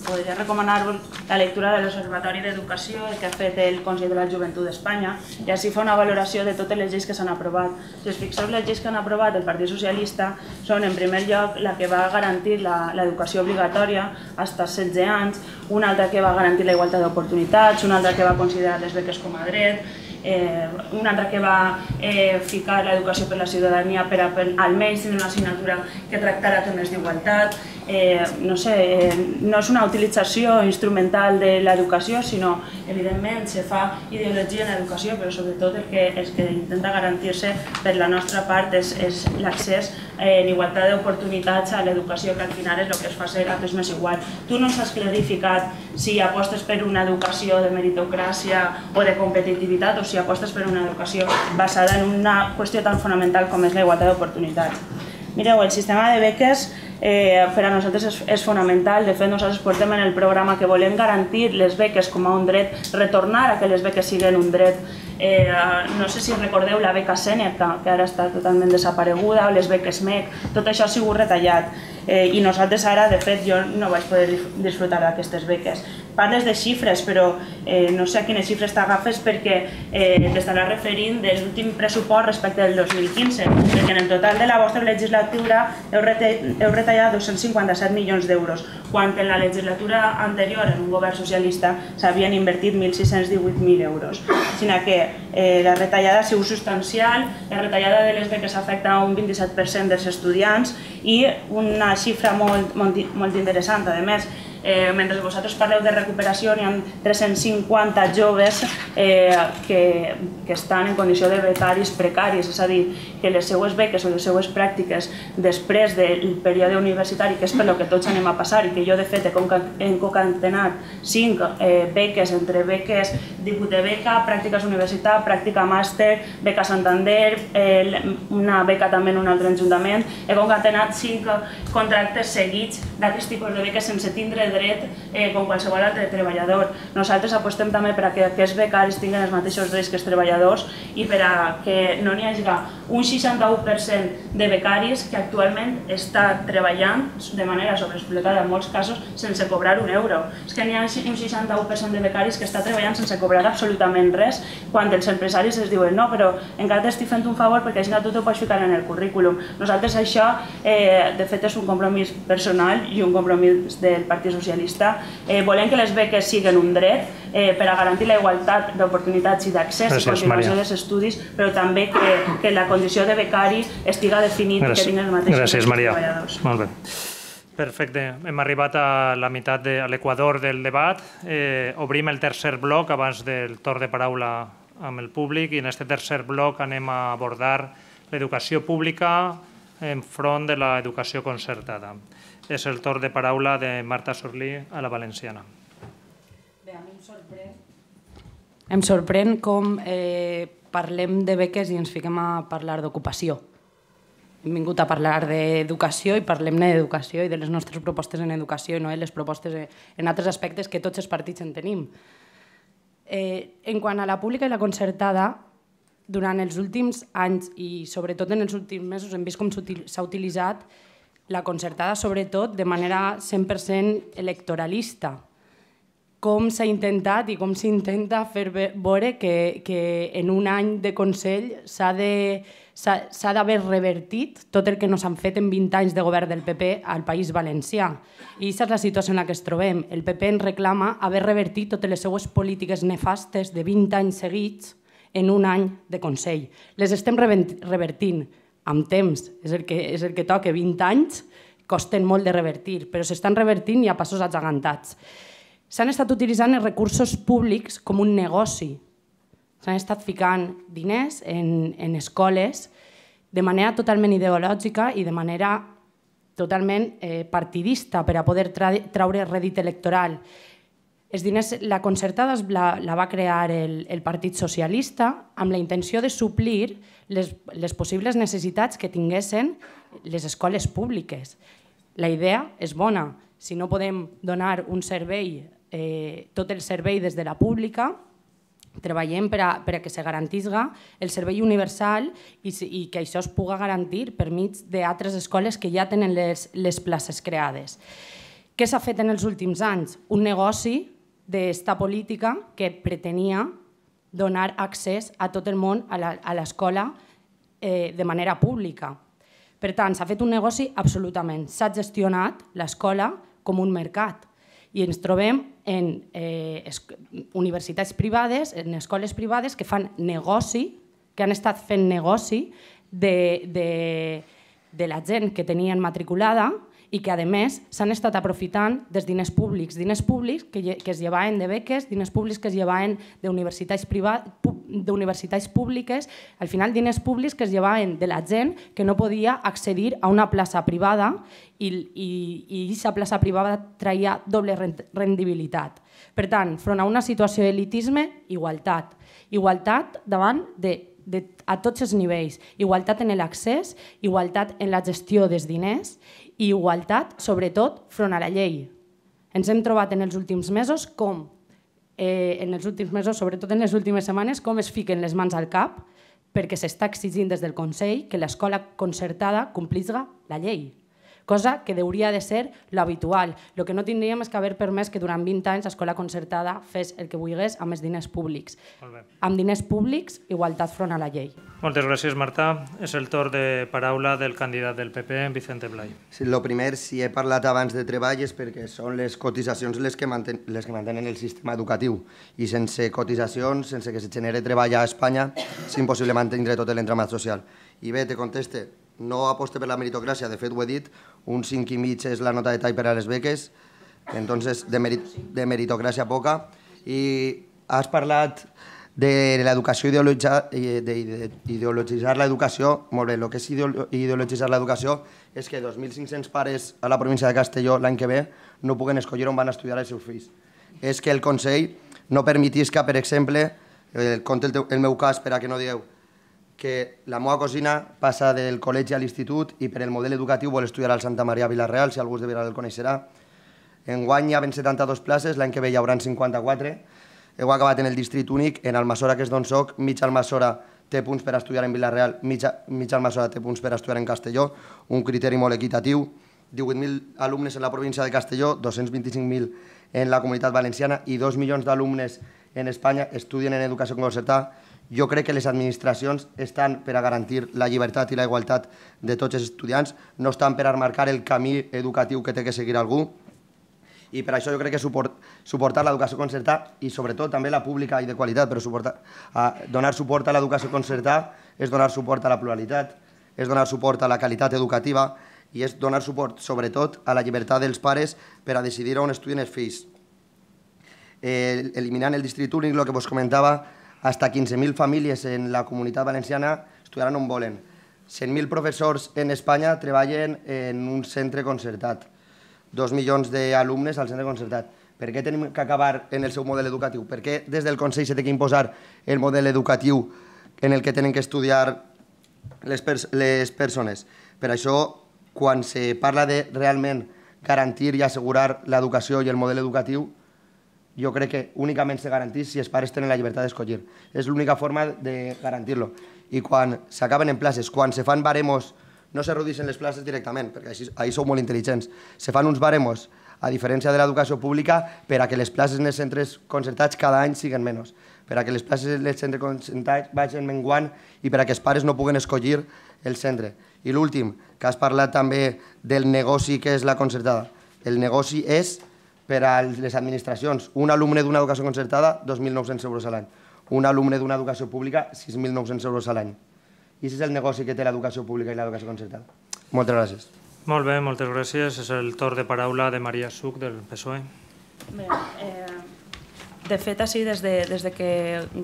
podria recomanar-vos la lectura de l'Observatori d'Educació que ha fet el Consell de la Joventut d'Espanya i així fa una valoració de totes les lleis que s'han aprovat. Si us fixeu, les lleis que han aprovat el Partit Socialista són, en primer lloc, la que va garantir l'educació obligatòria fins als setze anys, una altra que va garantir la igualtat d'oportunitats, una altra que va considerar les beques com a dret, eh, una altra que va eh, ficar l'educació per la ciutadania per a, per, almenys tenir una assignatura que tractara temes d'igualtat. Eh, no sé, eh, no és una utilització instrumental de l'educació, sinó, evidentment, se fa ideologia en l'educació, però sobretot el que, el que intenta garantir-se per la nostra part és, és l'accés eh, en igualtat d'oportunitats a l'educació, que al final és el que es fa ser a tots més igual. Tu no ens has clarificat si apostes per una educació de meritocràcia o de competitivitat o si apostes per una educació basada en una qüestió tan fonamental com és la igualtat d'oportunitats. Mireu, el sistema de beques Eh, per a nosaltres és, és fonamental. De fet, nosaltres portem en el programa que volem garantir les beques com a un dret, retornar a que les beques siguin un dret. Eh, no sé si recordeu la beca Sèneca, que ara està totalment desapareguda, o les beques M E C, tot això ha sigut retallat. Eh, I nosaltres ara, de fet, jo no vaig poder disfrutar d'aquestes beques. Parles de xifres, però eh, no sé a quines xifres t'agafes perquè eh, t'estarà referint de l'últim pressupost respecte del dos mil quinze, perquè en el total de la vostra legislatura heu, rete, heu retallat dos-cents cinquanta-set milions d'euros, quan en la legislatura anterior, en un govern socialista, s'havien invertit mil sis-cents divuit mil euros. Sinó que eh, la retallada ha sigut substancial, la retallada de les beques afecta a un vint-i-set per cent dels estudiants i una xifra molt, molt, molt interessant, a més, Eh, mentre vosaltres parleu de recuperació, hi ha tres-cents cinquanta joves eh, que, que estan en condició de becaris precaris, és a dir, que les seues beques o les seues pràctiques després del període universitari, que és per lo que tots anem a passar i que jo de fet he concatenat cinc eh, beques entre beques divuit de beca, pràctiques universitat, pràctica màster, beca Santander, eh, una beca també en un altre ajuntament, he concatenat cinc contractes seguits d'aquests tipus de beques sense tindre dret eh, com qualsevol altre treballador. Nosaltres apostem també per a que aquests becaris tinguin els mateixos drets que els treballadors i per a que no n'hi hagi un seixanta-u per cent de becaris que actualment està treballant de manera sobreexplotada en molts casos sense cobrar un euro. És que n'hi ha un seixanta-u per cent de becaris que està treballant sense cobrar absolutament res quan els empresaris es diuen no, però encara t'estic fent un favor perquè així tu t'ho pots ficar en el currículum. Nosaltres això, eh, de fet, és un compromís personal i un compromís del Partit Socialista. Eh, volem que les beques siguin un dret eh, per a garantir la igualtat d'oportunitats i d'accés i continuació dels estudis, però també que, que la condició de becari estiga definit i que tinguin els mateixos Gràcies, Maria. treballadors. Molt bé. Perfecte. Hem arribat a la meitat, de, a l'equador del debat. Eh, obrim el tercer bloc abans del torn de paraula amb el públic i en aquest tercer bloc anem a abordar l'educació pública enfront de l'educació concertada. És el torn de paraula de Marta Sorlí a la Valenciana. Bé, a mi em sorprèn, em sorprèn com eh, parlem de beques i ens fiquem a parlar d'ocupació. Hem vingut a parlar d'educació i parlem-ne d'educació i de les nostres propostes en educació i no de les propostes en altres aspectes que tots els partits en tenim. Eh, en quant a la pública i la concertada, durant els últims anys i sobretot en els últims mesos hem vist com s'ha utilitzat la concertada sobretot de manera cent per cent electoralista. Com s'ha intentat i com s'intenta fer veure que, que en un any de Consell s'ha d'haver revertit tot el que no s'han fet en vint anys de govern del P P al País Valencià. I aquesta és la situació en la que ens trobem. El P P ens reclama haver revertit totes les seues polítiques nefastes de vint anys seguits en un any de Consell. Les estem revertint amb temps, és el que, és el que toca, vint anys costen molt de revertir, però s'estan revertint i a passos agegantats. S'han estat utilitzant els recursos públics com un negoci. S'han estat ficant diners en, en escoles de manera totalment ideològica i de manera totalment eh, partidista per a poder tra traure rèdit electoral. Els diners, la concertada la, la va crear el, el Partit Socialista amb la intenció de suplir les, les possibles necessitats que tinguessin les escoles públiques. La idea és bona. Si no podem donar un servei, eh, tot el servei des de la pública, treballem per a, per a que se garantisga el servei universal i, i que això es pugui garantir per mig d'altres escoles que ja tenen les, les places creades. Què s'ha fet en els últims anys? Un negoci d'esta política que pretenia donar accés a tot el món a l'escola eh, de manera pública. Per tant, s'ha fet un negoci absolutament. S'ha gestionat l'escola com un mercat i ens trobem en eh, universitats privades, en escoles privades que fan negoci, que han estat fent negoci de, de, de la gent que tenien matriculada i que, a més, s'han estat aprofitant dels diners públics, diners públics que, que es llevaven de beques, diners públics que es llevaven d'universitats d'universitats públiques, al final diners públics que es llevaven de la gent que no podia accedir a una plaça privada i aquesta plaça privada traia doble rendibilitat. Per tant, front a una situació d'elitisme, igualtat. Igualtat davant de, de, a tots els nivells. Igualtat en l'accés, igualtat en la gestió dels diners i igualtat, sobretot, front a la llei. Ens hem trobat en els últims mesos com, eh, en els últims mesos, sobretot en les últimes setmanes, com es fiquen les mans al cap perquè s'està exigint des del Consell que l'escola concertada complisga la llei, cosa que hauria de ser l'habitual. El que no tindríem és que haver permès que durant vint anys l'escola concertada fes el que volgués amb els diners públics. Amb diners públics, igualtat front a la llei. Moltes gràcies, Marta. És el torn de paraula del candidat del P P, Vicente Blay. Sí, lo primer, si he parlat abans de treball és perquè són les cotitzacions les que, manten, les que mantenen el sistema educatiu i sense cotitzacions, sense que se genere treball a Espanya, és impossible mantenir tot l'entramat social. I bé, te conteste, no aposte per la meritocràcia, de fet ho he dit, un cinc i mig és la nota de tall per a les beques, entonces de, merit, de meritocràcia poca. I has parlat de l'educació ideologitzar l'educació. Molt bé, el que és ideologitzar l'educació és que dos mil cinc-cents pares a la província de Castelló l'any que ve no puguen escollir on van estudiar els seus fills. És que el Consell no permetisca, per exemple, el, conte el, el meu cas per a que no digueu, que la meva cosina passa del col·legi a l'institut i per el model educatiu vol estudiar al Santa Maria Vilareal, si algú de Vilareal el coneixerà. Enguany hi ha setanta-dues places, l'any que ve hi haurà cinquanta-quatre. Heu acabat en el districte únic, en Almassora, que és d'on soc, mig Almassora té punts per estudiar en Vilareal, mig Almassora té punts per estudiar en Castelló, un criteri molt equitatiu. divuit mil alumnes en la província de Castelló, dos-cents vint-i-cinc mil en la comunitat valenciana i dos milions d'alumnes en Espanya estudien en educació concertada. Jo crec que les administracions estan per a garantir la llibertat i la igualtat de tots els estudiants, no estan per a marcar el camí educatiu que té que seguir algú. I per això jo crec que suportar l'educació concertada i sobretot també la pública i de qualitat, però donar suport a l'educació concertada és donar suport a la pluralitat, és donar suport a la qualitat educativa i és donar suport, sobretot, a la llibertat dels pares per a decidir on estudien els fills. Eh, eliminant el districte únic, el que vos comentava, hasta quinze mil famílies en la comunitat valenciana estudiaran on volen. cent mil professors en Espanya treballen en un centre concertat. Dos milions d'alumnes al centre concertat. Per què tenim que acabar en el seu model educatiu? Per què des del Consell s'ha d'imposar el model educatiu en el que tenen que estudiar les, pers les persones? Per això, quan se parla de realment garantir i assegurar l'educació i el model educatiu, jo crec que únicament se garantís si els pares tenen la llibertat d'escollir. És l'única forma de garantir-lo. I quan s'acaben en places, quan se fan baremos, no se redueixen les places directament, perquè així, ahí sou molt intel·ligents, se fan uns baremos, a diferència de l'educació pública, per a que les places en els centres concertats cada any siguin menys, per a que les places en els centres concertats vagin menguant i per a que els pares no puguen escollir el centre. I l'últim, que has parlat també del negoci que és la concertada. El negoci és per a les administracions. Un alumne d'una educació concertada, dos mil nou-cents euros a l'any. Un alumne d'una educació pública, sis mil nou-cents euros a l'any. I aquest és el negoci que té l'educació pública i l'educació concertada. Moltes gràcies. Molt bé, moltes gràcies. És el torn de paraula de Maria Suc, del P S O E. Bé, eh, de fet, així, des de, des de que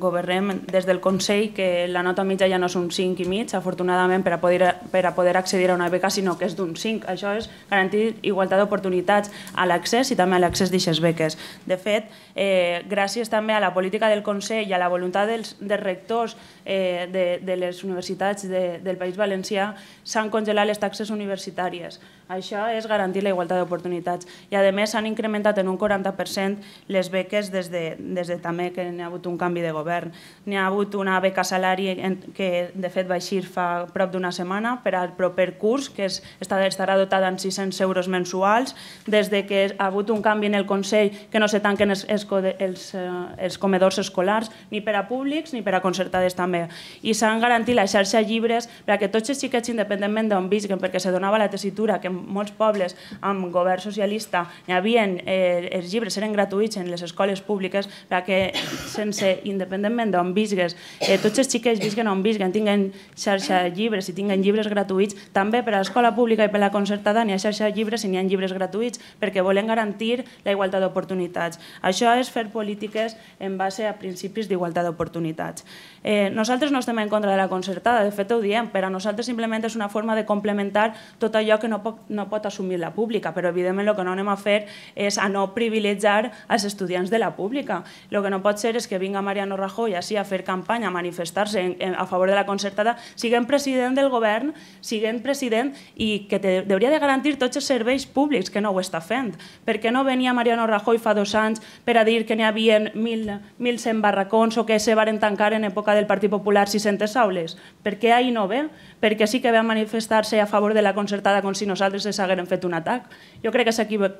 governem, des del Consell, que la nota mitja ja no és un cinc i mig, afortunadament, per a poder, per a poder accedir a una beca, sinó que és d'un cinc. Això és garantir igualtat d'oportunitats a l'accés i també a l'accés d'aquestes beques. De fet, eh, gràcies també a la política del Consell i a la voluntat dels, dels rectors eh, de, de les universitats de, del País Valencià, s'han congelat les taxes universitàries. Això és garantir la igualtat d'oportunitats. I, a més, s'han incrementat en un quaranta per cent les beques des de, des de també que n'hi ha hagut un canvi de govern. N'hi ha hagut una beca salari que, de fet, va eixir fa prop d'una setmana per al proper curs, que és, estarà dotada en sis-cents euros mensuals. Des de que ha hagut un canvi en el Consell, que no se tanquen els, els, els, els comedors escolars, ni per a públics ni per a concertades també. I s'han garantit la xarxa llibres perquè tots els xiquets, independentment d'on visquen, perquè se donava la tessitura que en molts pobles amb govern socialista hi havia, eh, els llibres eren gratuïts en les escoles públiques perquè sense, independentment d'on visgues, eh, tots els xiquets visquen on visquen, tinguen xarxa llibres i tinguen llibres gratuïts, també per a l'escola pública i per a la concertada n'hi ha xarxa llibres i n'hi ha llibres gratuïts perquè volen garantir la igualtat d'oportunitats. Això és fer polítiques en base a principis d'igualtat d'oportunitats. Eh, nosaltres no estem en contra de la concertada, de fet ho diem, per a nosaltres simplement és una forma de complementar tot allò que no pot, no pot assumir la pública, però evidentment el que no anem a fer és a no privilegiar els estudiants de la pública. El que no pot ser és que vinga Mariano Rajoy així a fer campanya, a manifestar-se en, en, a favor de la concertada, siguent president del govern, siguent president i que te, hauria de garantir tots els serveis públics, que no ho està fent. Per què no venia Mariano Rajoy fa dos anys per a dir que n'hi havia mil cent barracons o que se varen tancar en època del Partit Popular sis-centes aules? Per què ahir no ve? Perquè sí que ve a manifestar-se a favor de la concertada com si nosaltres els haguérem fet un atac. Jo crec que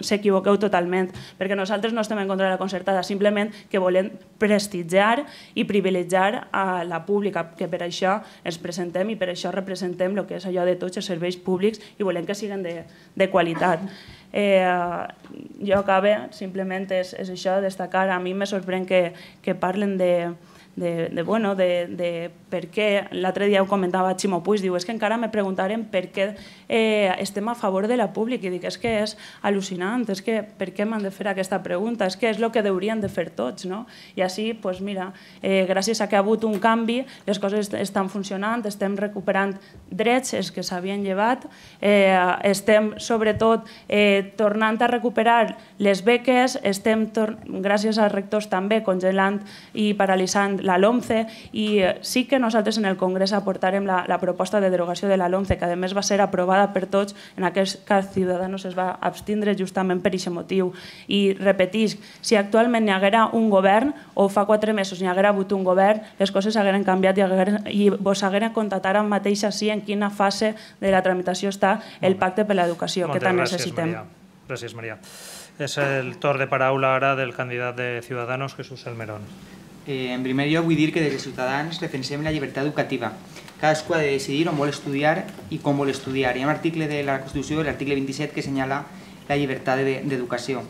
s'equivoqueu totalment, perquè nosaltres no estem en contra de la concertada, simplement que volem prestigiar i privilegiar a la pública, que per això ens presentem i per això representem el que és allò de tots els serveis públics i volem que siguin de, de qualitat. Eh, jo acabe, simplement és, és això, destacar, a mi me sorprèn que, que parlen de De, de, bueno, de, de per què, l'altre dia ho comentava Ximo Puig, diu, és que encara me preguntaren per què eh, estem a favor de la pública, i dic, és que és al·lucinant, és que per què m'han de fer aquesta pregunta, és que és el que haurien de fer tots, no? I així, doncs mira, eh, gràcies a que ha hagut un canvi, les coses estan funcionant, estem recuperant drets, els que s'havien llevat, eh, estem sobretot eh, tornant a recuperar les beques, estem, gràcies als rectors també, congelant i paralitzant la LOMCE, i sí que nosaltres en el Congrés aportarem la, la proposta de derogació de la LOMCE, que a més va ser aprovada per tots, en aquest cas Ciudadanos es va abstindre justament per aquest motiu. I repetisc, si actualment hi haguera un govern, o fa quatre mesos hi haguera hagut un govern, les coses hagueren canviat i, hagueren, i vos hagueren contatat amb mateix així en quina fase de la tramitació està el pacte per l'educació, que tant necessitem. Gràcies, Maria. És el torn de paraula ara del candidat de Ciudadanos, Jesús Salmerón. Eh, en primer lloc, vull dir que des de Ciutadans defensem la llibertat educativa. Cadascú ha de decidir on vol estudiar i com vol estudiar. Hi ha un article de la Constitució, l'article vint-i-set, que assenyala la llibertat d'educació.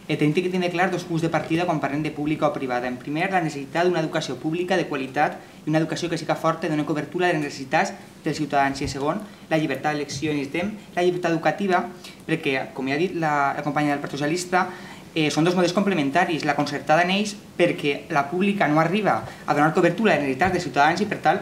Eh, tenim que tenir clar dos punts de partida quan parlem de pública o privada. En primer, la necessitat d'una educació pública de qualitat i una educació que siga forta i doni cobertura a les necessitats dels ciutadans. I en segon, la llibertat d'elecció. Necessitem la llibertat educativa perquè, com ja ha dit la, la companya del Partit Socialista, eh, són dos models complementaris. La concertada neix perquè la pública no arriba a donar cobertura a les necessitats dels ciutadans i, per tal,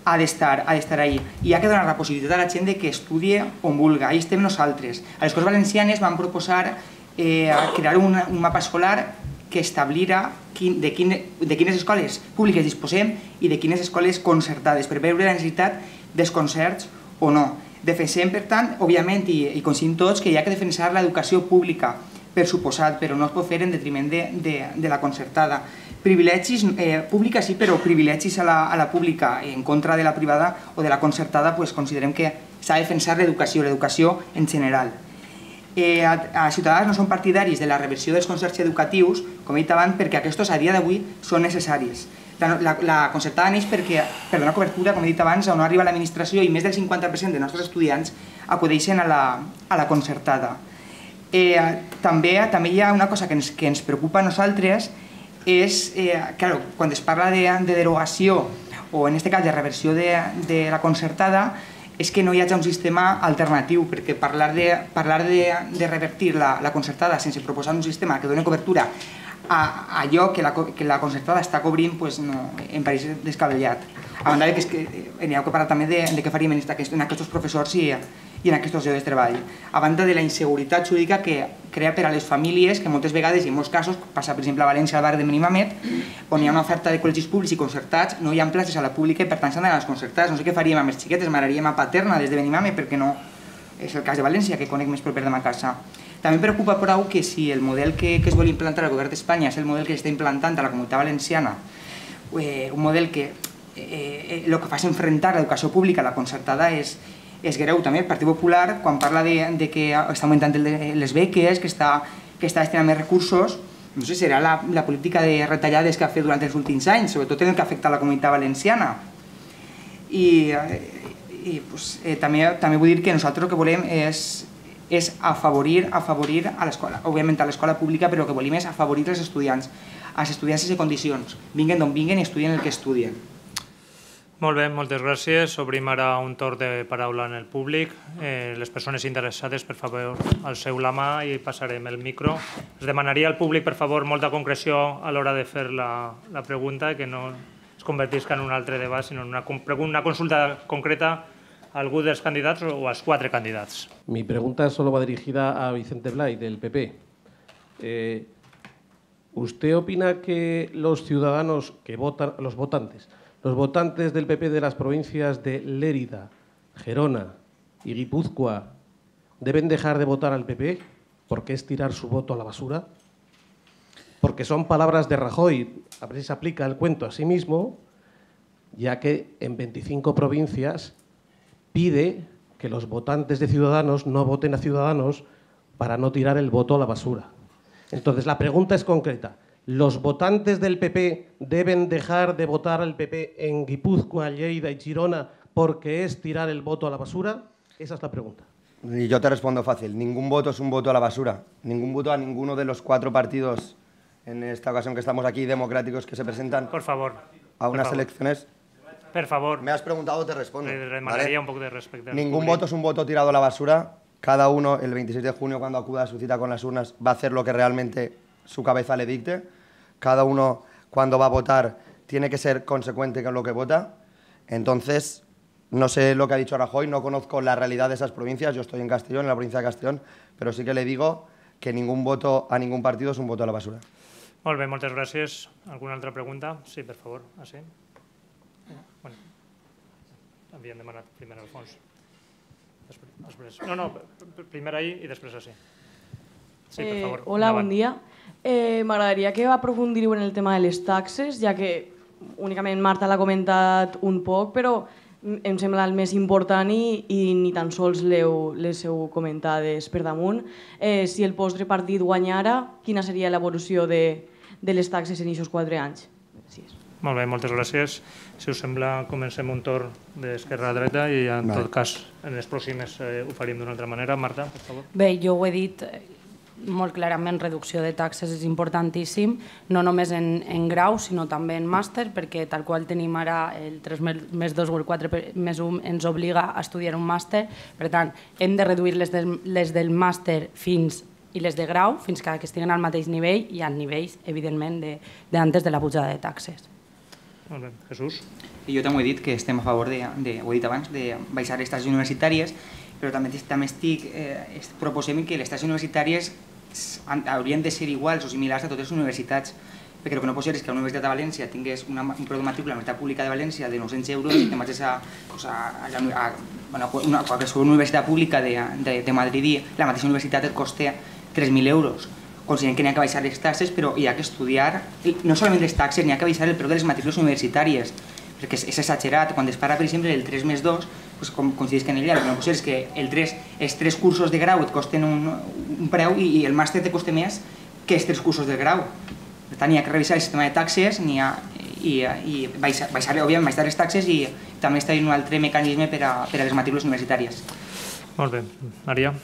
ha d'estar ha d'estar ahí. I ha que donar la possibilitat a la gent de que estudie on vulga. Ahí estem nosaltres. A les Corts Valencianes vam proposar eh, crear un, un mapa escolar que establirà quin, de, quin, de quines escoles públiques disposem i de quines escoles concertades, per veure la necessitat dels concerts o no. Defensem, per tant, òbviament, i, i coincidim tots, que hi ha que defensar l'educació pública, per suposat, però no es pot fer en detriment de, de, de la concertada. Privilegis, eh, pública sí, però privilegis a la, a la pública en contra de la privada o de la concertada, pues, considerem que s'ha de defensar l'educació, l'educació en general. Eh, a, a Ciutadans no són partidaris de la reversió dels concerts educatius, com he dit abans, perquè aquests a dia d'avui són necessaris. La, la, la concertada neix perquè, per donar cobertura, com he dit abans, on no arriba l'administració i més del cinquanta per cent dels nostres estudiants acudeixen a la, a la concertada. Eh, també, també hi ha una cosa que ens, que ens preocupa a nosaltres, és, eh, claro, quan es parla de, de derogació o en aquest cas de reversió de, de la concertada, és que no hi hagi un sistema alternatiu, perquè parlar de, parlar de, de revertir la, la concertada sense proposar un sistema que doni cobertura a, a allò que la, que la concertada està cobrint, pues no, em pareix descabellat. A banda de que, és que n'hi ha que parlar també de, de què faríem en, aquest, en aquests professors i, i en aquests llocs de treball. A banda de la inseguretat jurídica que crea per a les famílies, que moltes vegades i en molts casos, passa per exemple a València al barri de Benimamet, on hi ha una oferta de col·legis públics i concertats, no hi ha places a la pública i per tant s'han d'anar a les concertades. No sé què faríem amb els xiquetes, m'agradaríem a Paterna des de Benimamet, perquè no és el cas de València, que conec més proper de ma casa. També em preocupa prou que si el model que, que es vol implantar al govern d'Espanya és el model que s'està implantant a la Comunitat Valenciana, eh, un model que eh, el que fa és enfrontar l'educació pública a la concertada és, és greu. També el Partit Popular, quan parla de, de que està augmentant el de, les beques, que està, que està destinant més recursos, no sé si serà la, la política de retallades que ha fet durant els últims anys, sobretot en el que afecta a la Comunitat Valenciana. I, i pues, eh, també, també vull dir que nosaltres el que volem és és afavorir, afavorir a l'escola, òbviament a l'escola pública, però el que volem és afavorir els estudiants, als estudiants sense condicions, vinguen d'on vinguen i estudien el que estudien. Molt bé, moltes gràcies. Obrim ara un torn de paraula en el públic. Eh, les persones interessades, per favor, alceu la mà i passarem el micro. Es demanaria al públic, per favor, molta concreció a l'hora de fer la, la pregunta, que no es convertisca en un altre debat, sinó en una, una consulta concreta a algú dels candidats o als quatre candidats. Mi pregunta solo va dirigida a Vicente Blay, del P P. Eh, ¿Usted opina que los ciudadanos que votan, los votantes, los votantes del P P de las provincias de Lérida, Gerona y Guipúzcoa deben dejar de votar al P P porque es tirar su voto a la basura? Porque son palabras de Rajoy, a ver si se aplica el cuento a sí mismo, ya que en veinticinco provincias pide que los votantes de Ciudadanos no voten a Ciudadanos para no tirar el voto a la basura. Entonces, la pregunta es concreta. ¿Los votantes del P P deben dejar de votar al P P en Guipúzcoa, Lleida y Girona porque es tirar el voto a la basura? Esa es la pregunta. Y yo te respondo fácil. Ningún voto es un voto a la basura. Ningún voto a ninguno de los cuatro partidos, en esta ocasión que estamos aquí, democráticos, que se presentan por favor, a unas por favor. elecciones. Per favor. Me has preguntado, te respondo. Le demanaría ¿vale? un poco de respeto. Ningún voto es un voto tirado a la basura. Cada uno, el veintiséis de junio, cuando acuda a su cita con las urnas, va a hacer lo que realmente su cabeza le dicte. Cada uno, cuando va a votar, tiene que ser consecuente con lo que vota. Entonces, no sé lo que ha dicho Rajoy, no conozco la realidad de esas provincias. Yo estoy en Castellón, en la provincia de Castellón, pero sí que le digo que ningún voto a ningún partido es un voto a la basura. Molt bé, moltes gràcies. Alguna altra pregunta? Sí, per favor. Ah, sí? Bueno, havien demanat primer al fons. Després. No, no, primer ahir i després així. Sí, per favor. Eh, hola, bon dia. Eh, M'agradaria que aprofundiu en el tema de les taxes, ja que únicament Marta l'ha comentat un poc, però em sembla el més important i, i ni tan sols les heu comentades per damunt. Eh, si el vostre partit guanyara, quina seria l'evolució de, de les taxes en aquests quatre anys? Gràcies. Molt bé, moltes gràcies. Si us sembla, comencem un torn d'esquerra a dreta i en tot cas en les pròximes eh, ho faríem d'una altra manera. Marta, per favor. Bé, jo ho he dit, molt clarament reducció de taxes és importantíssim, no només en, en grau, sinó també en màster, perquè tal qual tenim ara el tres més dos o el quatre més un ens obliga a estudiar un màster, per tant, hem de reduir les del, les del màster fins i les de grau, fins que estiguen al mateix nivell i al nivells, evidentment, d'antes de la pujada de taxes. Molt bé. Jesús? Jo també he dit que estem a favor, de, de, ho he dit abans, de baixar les taxes universitàries, però també, també estic, eh, proposem que les taxes universitàries haurien de ser iguals o similars a totes les universitats, perquè el que no pot ser és que la Universitat de València tingués una, un preu de matrícula a la Universitat Pública de València de nou-cents euros i que marxés a, pues a, a, a, a una, qualsevol universitat pública de, de, de Madrid i la mateixa universitat et costa tres mil euros. Considerem que n'hi ha que baixar les taxes, però hi ha que estudiar, no solament les taxes, n'hi ha que baixar el preu de les matrícules universitàries, perquè és, és exagerat. Quan es parla, per exemple, del tres més dos, pues, com coincideix que en ella, el que no pot ser és que el tres, els tres cursos de grau et costen un, un preu i, i el màster te costa més que els tres cursos de grau. Per tant, hi ha que revisar el sistema de taxes i, i, i baixar, baixar, òbviament, baixar les taxes i també està un altre mecanisme per a, per a les matrícules universitàries. Molt bé. Maria?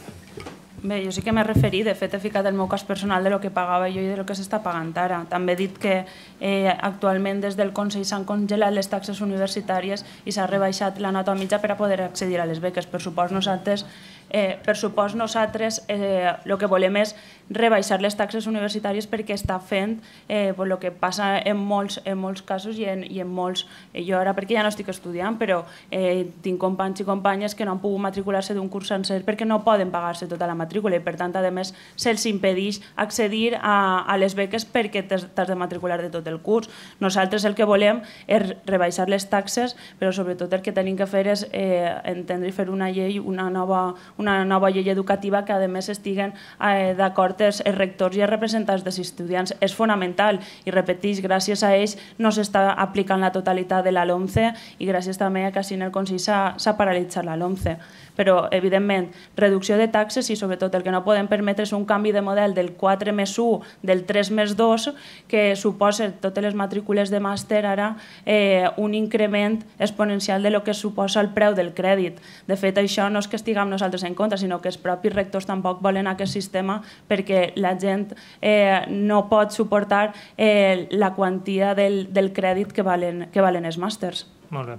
Bé, jo sí que m'he referit, de fet he ficat el meu cas personal de lo que pagava jo i de lo que s'està pagant ara. També he dit que eh, actualment des del Consell s'han congelat les taxes universitàries i s'ha rebaixat la nota mitja per a poder accedir a les beques. Per supost nosaltres, eh, per supost nosaltres eh, el que volem és rebaixar les taxes universitàries perquè està fent eh, el que passa en molts, en molts casos i en, i en molts... Eh, jo ara perquè ja no estic estudiant, però eh, tinc companys i companyes que no han pogut matricular-se d'un curs sencer perquè no poden pagar-se tota la matrícula i per tant, a més, se'ls impedeix accedir a, a les beques perquè t'has de matricular de tot el curs. Nosaltres el que volem és rebaixar les taxes, però sobretot el que tenim que fer és eh, entendre i fer una llei, una nova, una nova llei educativa que a més estiguen eh, d'acord els rectors i els representants dels estudiants. És fonamental i repeteix, gràcies a ells no s'està aplicant la totalitat de la LOMCE i gràcies també a que així en el Consell s'ha paralitzat la LOMCE. Però, evidentment, reducció de taxes i sobretot el que no podem permetre és un canvi de model del quatre més u, del tres més dos, que suposa totes les matrícules de màster ara eh, un increment exponencial de lo que suposa el preu del crèdit. De fet, això no és que estiguem nosaltres en contra, sinó que els propis rectors tampoc volen aquest sistema perquè la gent eh, no pot suportar eh, la quantia del, del crèdit que valen, que valen els màsters. Molt bé.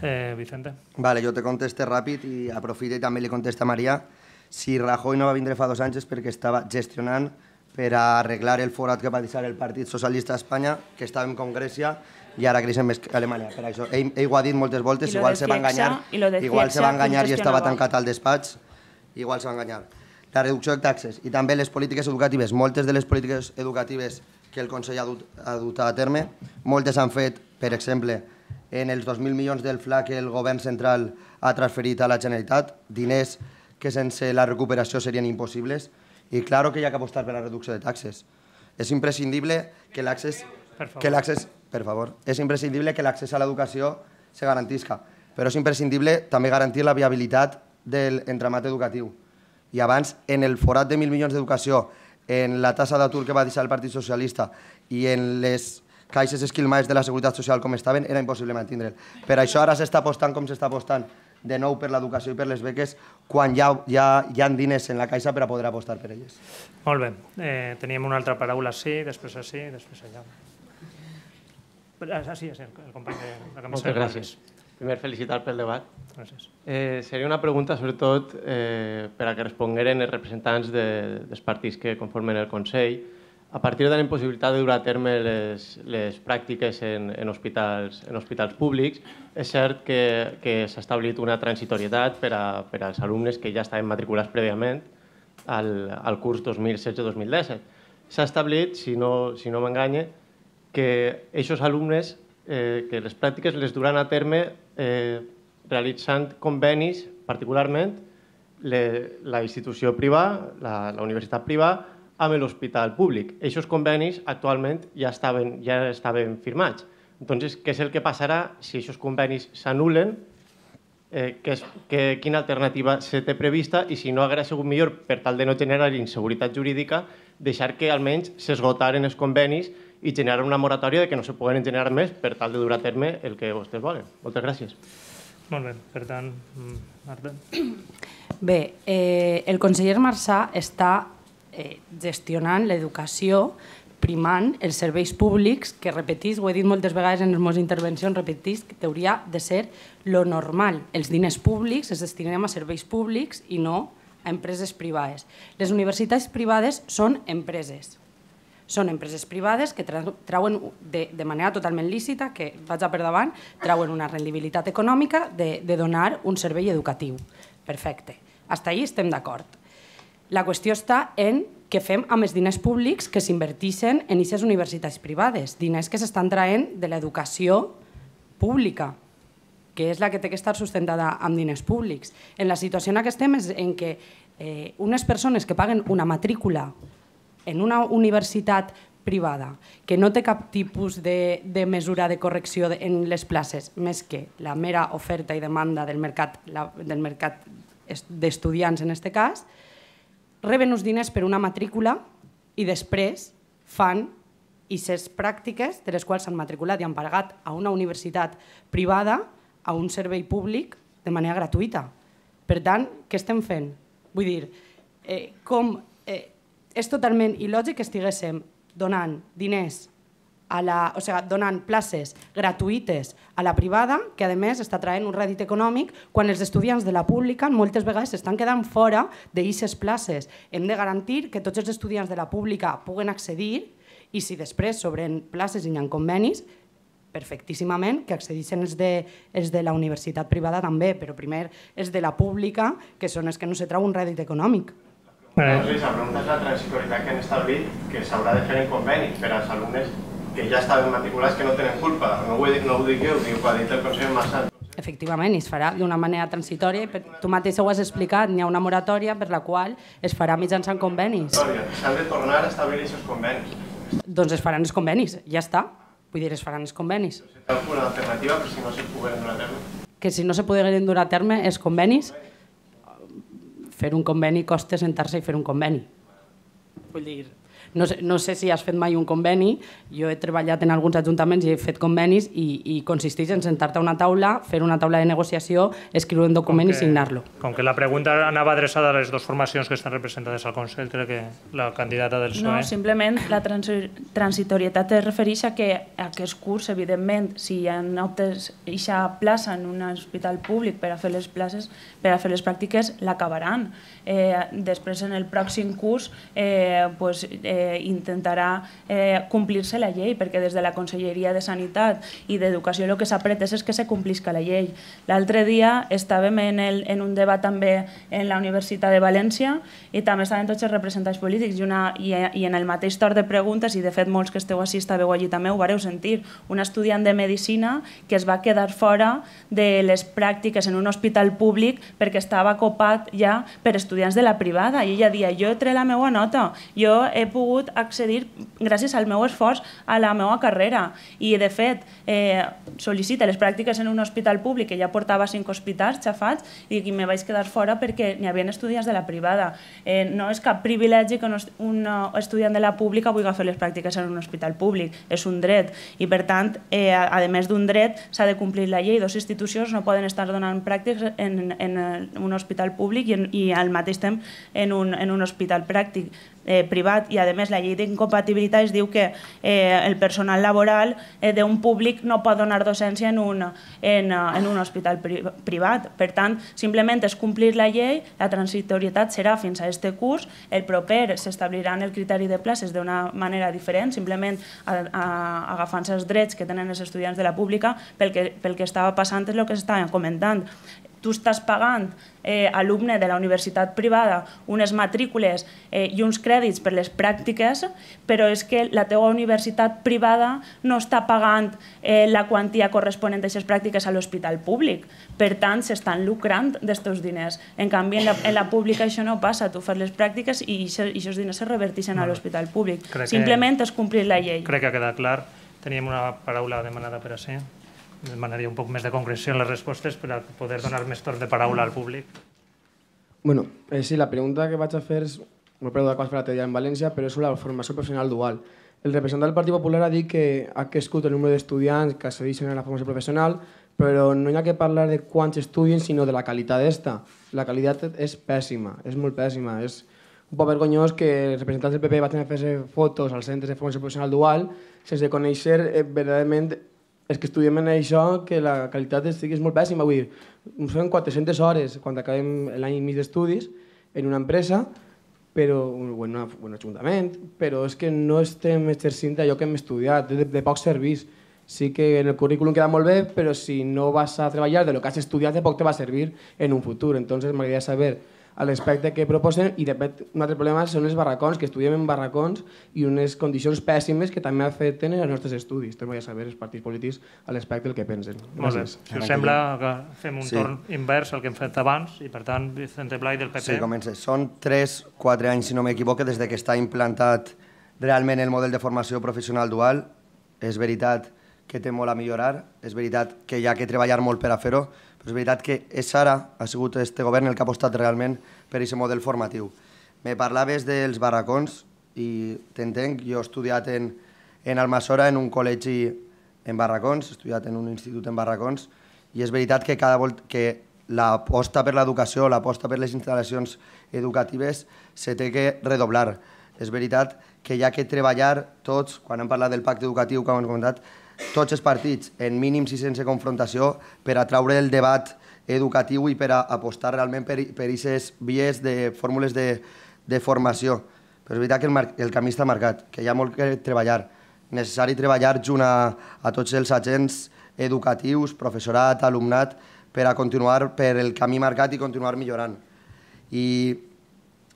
Eh, Vicente? Vale, jo te conteste ràpid i aprofito i també li contesta a Maria. Si Rajoy no va vindre fa dos anys és perquè estava gestionant per a arreglar el forat que va deixar el Partit Socialista d'Espanya, que estàvem com Grècia i ara creixem més que Alemanya. Per això, ell, ell ho ha dit moltes voltes, igual se va enganyar, igual se va enganyar i estava tancat al despatx, igual se va enganyar. La reducció de taxes i també les polítiques educatives, moltes de les polítiques educatives que el Consell ha dut, ha dut a terme, moltes han fet, per exemple, en els dos mil milions del F L A que el govern central ha transferit a la Generalitat, diners que sense la recuperació serien impossibles, i claro que hi ha que apostar per la reducció de taxes. És imprescindible que l'accés que l'accés, per favor, és imprescindible que l'accés a l'educació se garantisca, però és imprescindible també garantir la viabilitat de l'entramat educatiu. I abans, en el forat de mil milions d'educació, en la tassa d'atur que va deixar el Partit Socialista i en les caixes esquilmades de la Seguretat Social com estaven, era impossible mantindre'l. Per això ara s'està apostant com s'està apostant de nou per l'educació i per les beques quan ja, ja hi ha diners en la caixa per a poder apostar per elles. Molt bé. Eh, teníem una altra paraula així, després així, després allà. Ah, sí, sí, el company de la camisa. Moltes gràcies. Primer, felicitar pel debat. Gràcies. Eh, seria una pregunta, sobretot, eh, per a que respongueren els representants de, dels partits que conformen el Consell. A partir de la impossibilitat de dur a terme les, les pràctiques en, en, hospitals, en hospitals públics, és cert que, que s'ha establit una transitorietat per, a, per als alumnes que ja estaven matriculats prèviament al, al curs dos mil setze dos mil disset. S'ha establit, si no, si no m'enganye, que aquests alumnes, eh, que les pràctiques les duran a terme eh, realitzant convenis, particularment le, la institució privada, la, la universitat privada, amb l'hospital públic. Aquests convenis actualment ja estaven, ja estaven firmats. Entonces, què és el que passarà si aquests convenis s'anulen? Eh, que és, que, quina alternativa se té prevista i si no hauria sigut millor, per tal de no generar inseguretat jurídica, deixar que almenys s'esgotaren els convenis i generar una moratòria de que no se poden generar més per tal de dur a terme el que vostès volen. Moltes gràcies. Molt bé. Per tant, Marta. Bé, eh, el conseller Marsà està gestionant l'educació, primant els serveis públics, que repetís, ho he dit moltes vegades en les meves intervencions, repetís que hauria de ser lo normal. Els diners públics els destinem a serveis públics i no a empreses privades. Les universitats privades són empreses. Són empreses privades que trauen de manera totalment lícita, que vaig a per davant, trauen una rendibilitat econòmica de donar un servei educatiu. Perfecte. Fins ahí estem d'acord. La qüestió està en què fem amb els diners públics que s'inverteixen en aquestes universitats privades, diners que s'estan traient de l'educació pública, que és la que té que estar sustentada amb diners públics. En la situació en què estem és en què unes persones que paguen una matrícula en una universitat privada que no té cap tipus de mesura de correcció en les places, més que la mera oferta i demanda del mercat d'estudiants en aquest cas, reben uns diners per una matrícula i després fan aquestes pràctiques de les quals s'han matriculat i han pagat a una universitat privada a un servei públic de manera gratuïta. Per tant, què estem fent? Vull dir, com és totalment il·lògic que estiguéssim donant diners, o sigui, donant places gratuïtes a la privada, que a més està traient un rèdit econòmic, quan els estudiants de la pública moltes vegades s'estan quedant fora d'aquestes places. Hem de garantir que tots els estudiants de la pública puguen accedir i si després s'obren places i hi ha convenis, perfectíssimament que accedissin els de la universitat privada també, però primer els de la pública, que són els que no se trau un rèdit econòmic. La pregunta és la transitorietat que han establit, que s'haurà de fer en conveni per als alumnes que ja estaven matriculats, que no tenen culpa. No ho dic jo, ho ha dit el Consell Massat. Efectivament, es farà d'una manera transitòria. Tu mateix ho has explicat, hi ha una moratòria per la qual es farà mitjançant convenis. S'han de tornar a establir aquests convenis. Doncs es faran els convenis, ja està. Vull dir, es faran els convenis. Una alternativa, però si no se pogueren dur a terme. Que si no se pogueren dur a terme els convenis, fer un conveni costa sentar-se i fer un conveni. Vull dir, no sé si has fet mai un conveni, jo he treballat en alguns ajuntaments i he fet convenis i consisteix en sentar-te a una taula, fer una taula de negociació, escriure un document i signar-lo. Com que la pregunta anava adreçada a les dues formacions que estan representades al Consell, crec que la candidata del P S O E... No, simplement la transitorietat es refereix a que aquest curs, evidentment, si hi ha optes eixa plaça en un hospital públic per a fer les places, per a fer les pràctiques, l'acabaran. Després, en el pròxim curs, intentarà complir-se la llei, perquè des de la Conselleria de Sanitat i d'Educació el que s'apreta és que se complisca la llei. L'altre dia estàvem en un debat també en la Universitat de València i també estaven tots els representants polítics i en el mateix torn de preguntes, i de fet molts que esteu així estàveu allí també ho vareu sentir, un estudiant de Medicina que es va quedar fora de les pràctiques en un hospital públic perquè estava copat ja per estudiants de la privada i ella deia, jo he tret la meva nota, jo he pogut accedir gràcies al meu esforç a la meva carrera i de fet sol·licita les pràctiques en un hospital públic que ja portava cinc hospitals xafats i me vaig quedar fora perquè n'hi havia estudiants de la privada. No és cap privilegi que un estudiant de la pública vulgui fer les pràctiques en un hospital públic, és un dret i per tant, a més d'un dret s'ha de complir la llei. Dos institucions no poden estar donant pràctiques en un hospital públic i al mateix temps en un hospital pràctic privat i a més la llei d'incompatibilitat es diu que el personal laboral d'un públic no pot donar docència en un hospital privat. Per tant, simplement és complir la llei, la transitorietat serà fins a aquest curs, el proper s'establiran el criteri de places d'una manera diferent, simplement agafant-se els drets que tenen els estudiants de la pública pel que estava passant és el que s'estava comentant. Tu estàs pagant alumne de la universitat privada unes matrícules i uns crèdits per les pràctiques, però és que la teva universitat privada no està pagant la quantia corresponent a aquestes pràctiques a l'hospital públic. Per tant, s'estan lucrant d'estos diners. En canvi, en la pública això no passa. Tu fas les pràctiques i aquests diners se reverteixen a l'hospital públic. Simplement és complir la llei. Crec que ha quedat clar. Teníem una paraula demanada per a ser. Demanaria un poc més de concreció en les respostes per a poder donar més torn de paraula al públic. Bueno, sí, la pregunta que vaig a fer és una pregunta que vaig fer l'altre dia en València, però és sobre la formació professional dual. El representant del Partit Popular ha dit que ha crescut el número d'estudiants que accedeixen a la formació professional, però no hi ha que parlar de quants estudien, sinó de la qualitat d'esta. La qualitat és pèssima, és molt pèssima. És un poc vergonyós que els representants del P P vagin a fer fotos als centres de formació professional dual sense conèixer eh, verdaderament els que estudiem en això, que la qualitat estigui molt pèssima. Vull dir, ens fem quatre-centes hores quan acabem l'any i mig d'estudis en una empresa, però, o en, una, o en un ajuntament, però és que no estem exercint allò que hem estudiat, de, de poc servís. Sí que en el currículum queda molt bé, però si no vas a treballar de lo que has estudiat, de poc te va a servir en un futur. Entonces m'agradaria saber al respecte que proposen, i de fet un altre problema són els barracons, que estudiem en barracons i unes condicions pèssimes que també afecten els nostres estudis. Entonces m'agradaria saber els partits polítics al respecte del que pensen. Molt bé. Si us sembla que fem un Sí. torn invers al que hem fet abans i per tant Vicente Blay del P P. Sí, comença. Són tres quatre anys, si no m'equivoco, des de que està implantat realment el model de formació professional dual. És veritat que té molt a millorar, és veritat que hi ha que treballar molt per a fer-ho, però és veritat que és ara, ha sigut este govern el que ha apostat realment per aquest model formatiu. Me parlaves dels barracons i t'entenc, jo he estudiat en, en Almassora en un col·legi en barracons, he estudiat en un institut en barracons, i és veritat que cada volta que l'aposta per l'educació, l'aposta per les instal·lacions educatives se té que redoblar. És veritat que hi ha que treballar tots, quan hem parlat del pacte educatiu que hem comentat, tots els partits, en mínims i sense confrontació, per atraure el debat educatiu i per a apostar realment per aquestes vies de fórmules de, de formació. Però és veritat que el, mar, el camí està marcat, que hi ha molt que treballar. Necessari treballar junt a, a tots els agents educatius, professorat, alumnat, per a continuar per el camí marcat i continuar millorant. I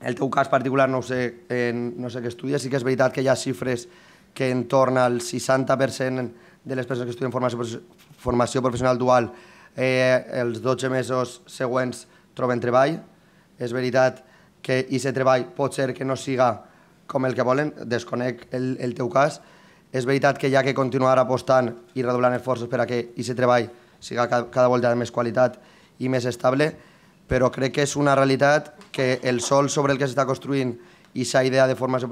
el teu cas particular no sé, en, no sé què estudies, sí que és veritat que hi ha xifres que en torn al seixanta per cent de les persones que estudien formació, formació professional dual eh, els dotze mesos següents troben treball. És veritat que aquest treball pot ser que no siga com el que volen, desconec el, el teu cas. És veritat que hi ha que continuar apostant i redoblant esforços per a que aquest treball siga cada, cada volta de més qualitat i més estable, però crec que és una realitat que el sol sobre el que s'està construint i aquesta idea de formació,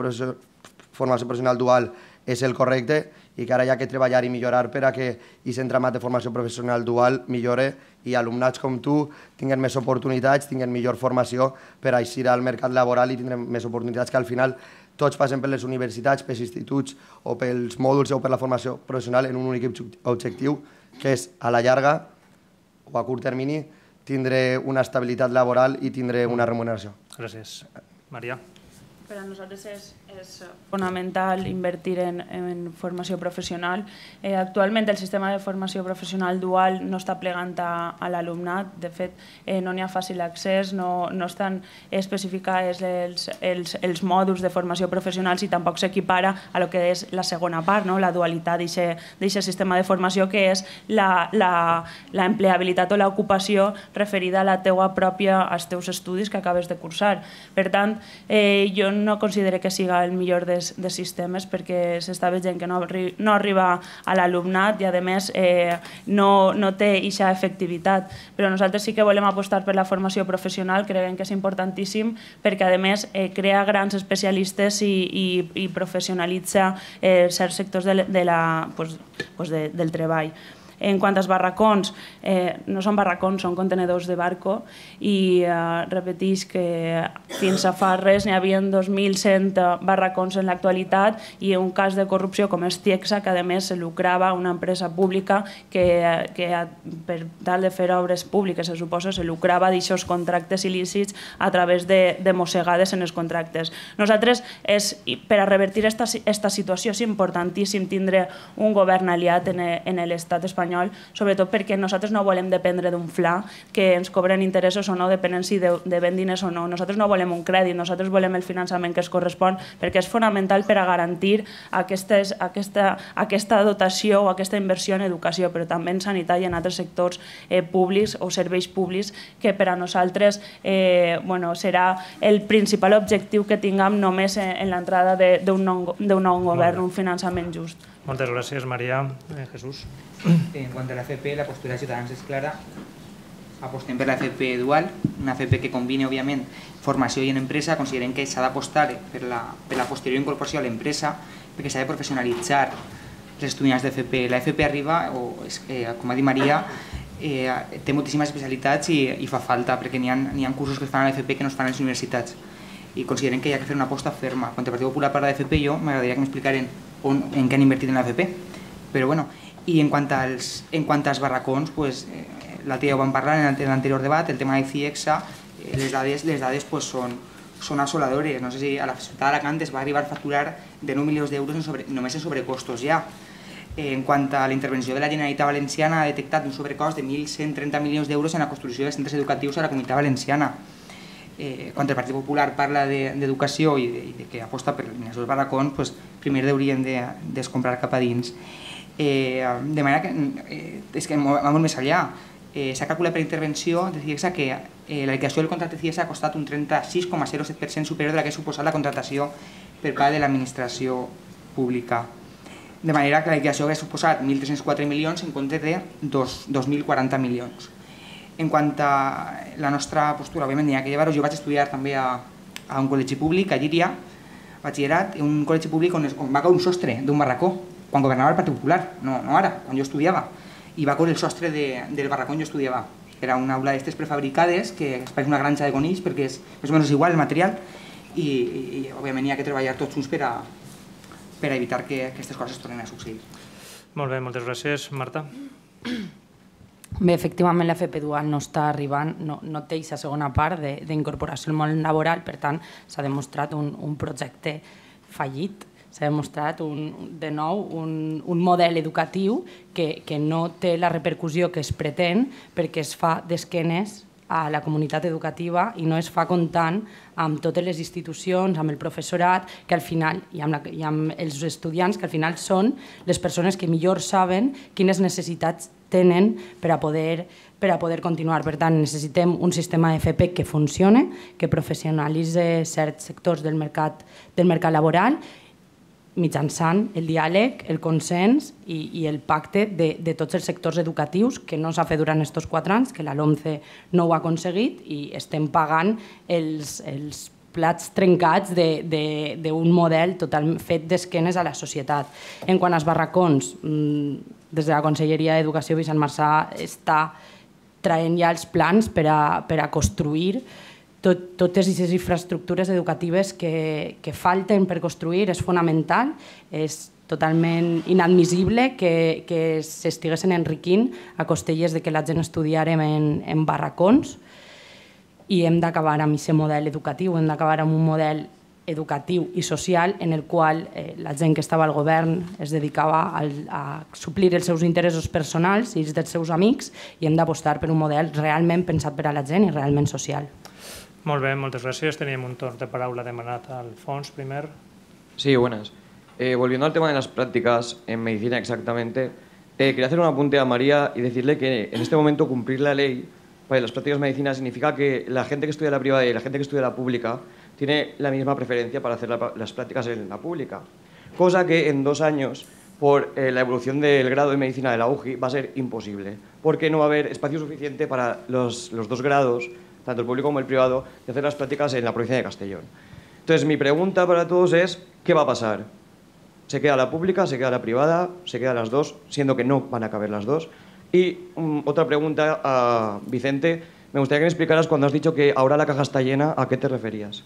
formació professional dual és el correcte i que ara hi ha que treballar i millorar per a que aquest entramat de formació professional dual millore i alumnats com tu tinguen més oportunitats, tinguen millor formació per a eixir al mercat laboral i tindrem més oportunitats, que al final tots passem per les universitats, pels instituts o pels mòduls o per la formació professional en un únic objectiu, que és a la llarga o a curt termini tindre una estabilitat laboral i tindre una remuneració. Gràcies. Maria. Per a nosaltres és, és fonamental invertir en, en formació professional. Eh, actualment el sistema de formació professional dual no està plegant a, a l'alumnat. De fet, eh, no n'hi ha fàcil accés, no, no estan especificats els, els, els mòduls de formació professional i tampoc s'equipara a lo que és la segona part, no? La dualitat d'aquest sistema de formació, que és l'empleabilitat o l'ocupació referida a la teua pròpia, als teus estudis que acabes de cursar. Per tant, eh, jo no considero que siga el millor dels, dels sistemes, perquè s'està veient que no, arri no arriba a l'alumnat i a més eh, no, no té aquesta efectivitat. Però nosaltres sí que volem apostar per la formació professional, creiem que és importantíssim perquè a més eh, crea grans especialistes i, i, i professionalitza eh, certs sectors de, de la, pues, pues de, del treball. En quant als barracons, eh, no són barracons, són contenedors de barco i eh, repeteix que fins a fa res n'hi havia dos mil cent barracons en l'actualitat i un cas de corrupció com és Tiexa, que a més se lucrava una empresa pública que, que per tal de fer obres públiques, se suposa, se lucrava d'aixòs contractes il·lícits a través de, de mossegades en els contractes. Nosaltres, és, per a revertir aquesta situació, és importantíssim tindre un govern aliat en, en l'estat espanyol, sobretot perquè nosaltres no volem dependre d'un fla que ens cobren interessos o no, depenent si de, de ben diners o no. Nosaltres no volem un crèdit, nosaltres volem el finançament que es correspon, perquè és fonamental per a garantir aquestes, aquesta, aquesta dotació o aquesta inversió en educació, però també en sanitat i en altres sectors eh, públics o serveis públics que per a nosaltres eh, bueno, serà el principal objectiu que tinguem només en, en l'entrada d'un nou, nou govern, un finançament just. Moltes gràcies, Maria. Eh, Jesús. En quant a la F P, la postura de Ciutadans és clara. Apostem per la F P dual, una F P que combini, òbviament, formació i en empresa. Considerem que s'ha d'apostar per la, per la posterior incorporació a l'empresa, perquè s'ha de professionalitzar els estudiants de F P. La F P arriba, o, eh, com ha dit Maria, eh, té moltíssimes especialitats i, i fa falta, perquè n'hi ha, n'hi ha cursos que es fan a la F P que no es fan a les universitats. i consideren que hi ha que fer una aposta ferma. Quan el Partit Popular parla d'F P, jo m'agradaria que m'explicaren en què han invertit en l'F P. Però bueno, i en quant als, en quant als barracons, pues, eh, l'altre dia ho vam parlar en l'anterior debat, el tema de CIEXA, eh, les dades, les dades pues, són, són assoladores. No sé si a la ciutat d'Alacant es va arribar a facturar de nou milions d'euros sobre, només en sobrecostos ja. Eh, en quant a la intervenció de la Generalitat Valenciana, ha detectat un sobrecost de mil cent trenta milions d'euros en la construcció de centres educatius a la Comunitat Valenciana. Eh, quan el Partit Popular parla d'educació de, i, de, i de que aposta per l'eliminació dels barracons, pues, primer haurien de descomprar cap a dins. Eh, de manera que eh, és que va molt més enllà. Eh, S'ha calculat per intervenció de CIEXA que eh, la liquidació del contracte de CIEXA ha costat un trenta-sis coma zero set per cent superior de la que ha suposat la contractació per part de l'administració pública. De manera que la liquidació hauria suposat mil tres-cents quatre milions en comptes de dos mil quaranta milions. En quant a la nostra postura, òbviament, n'hi ha que llevar-ho. Jo vaig estudiar també a, a un col·legi públic, a Llíria, batxillerat, un col·legi públic on, es, on va caure un sostre d'un barracó, quan governava el Partit Popular, no, no ara, quan jo estudiava. I va caure el sostre de, del barracó on jo estudiava. Era una aula d'estes prefabricades, que es pareix una granja de conills, perquè és més o menys igual el material, i, i, i òbviament hi ha que treballar tots junts per a, per a evitar que aquestes coses tornin a succeir. Molt bé, moltes gràcies. Marta? Bé, efectivament l'F P dual no està arribant, no, no té aquesta segona part d'incorporació al món laboral, per tant s'ha demostrat un, un projecte fallit, s'ha demostrat un, de nou un, un model educatiu que, que no té la repercussió que es pretén perquè es fa d'esquenes a la comunitat educativa i no es fa comptant amb totes les institucions, amb el professorat que al final, i amb, la, i amb els estudiants que al final són les persones que millor saben quines necessitats tenen per a poder, per a poder continuar. Per tant, necessitem un sistema F P que funcione, que professionalitzi certs sectors del mercat, del mercat laboral mitjançant el diàleg, el consens i, i el pacte de, de tots els sectors educatius que no s'ha fet durant aquests quatre anys, que la LOMCE no ho ha aconseguit i estem pagant els, els plats trencats d'un model total fet d'esquenes a la societat. En quant als barracons, des de la Conselleria d'Educació Vicent Marsà està traient ja els plans per a, per a construir Tot, totes aquestes infraestructures educatives que, que falten per construir. És fonamental, és totalment inadmissible que, que s'estiguessin enriquint a costelles de que la gent estudiarem en, en barracons i hem d'acabar amb aquest model educatiu, hem d'acabar amb un model educatiu i social en el qual eh, la gent que estava al govern es dedicava a, a suplir els seus interessos personals i els dels seus amics i hem d'apostar per un model realment pensat per a la gent i realment social. Molt bé, moltes gràcies. Teníem un torn de paraula demanat al Fons, primer. Sí, buenas. Eh, volviendo al tema de las prácticas en medicina exactamente, eh, quería hacer un apunte a María y decirle que en este momento cumplir la ley para las prácticas de medicina significa que la gente que estudia la privada y la gente que estudia la pública tiene la misma preferencia para hacer la, las prácticas en la pública. Cosa que en dos años, por eh, la evolución del grado de medicina de la U J I, va a ser imposible, porque no va a haber espacio suficiente para los, los dos grados, tanto el público como el privado, de hacer las prácticas en la provincia de Castellón. Entonces, mi pregunta para todos es, ¿qué va a pasar? ¿Se queda la pública, se queda la privada, se quedan las dos, siendo que no van a caber las dos? Y um, otra pregunta a Vicente, me gustaría que me explicaras cuando has dicho que ahora la caja está llena, ¿a qué te referías?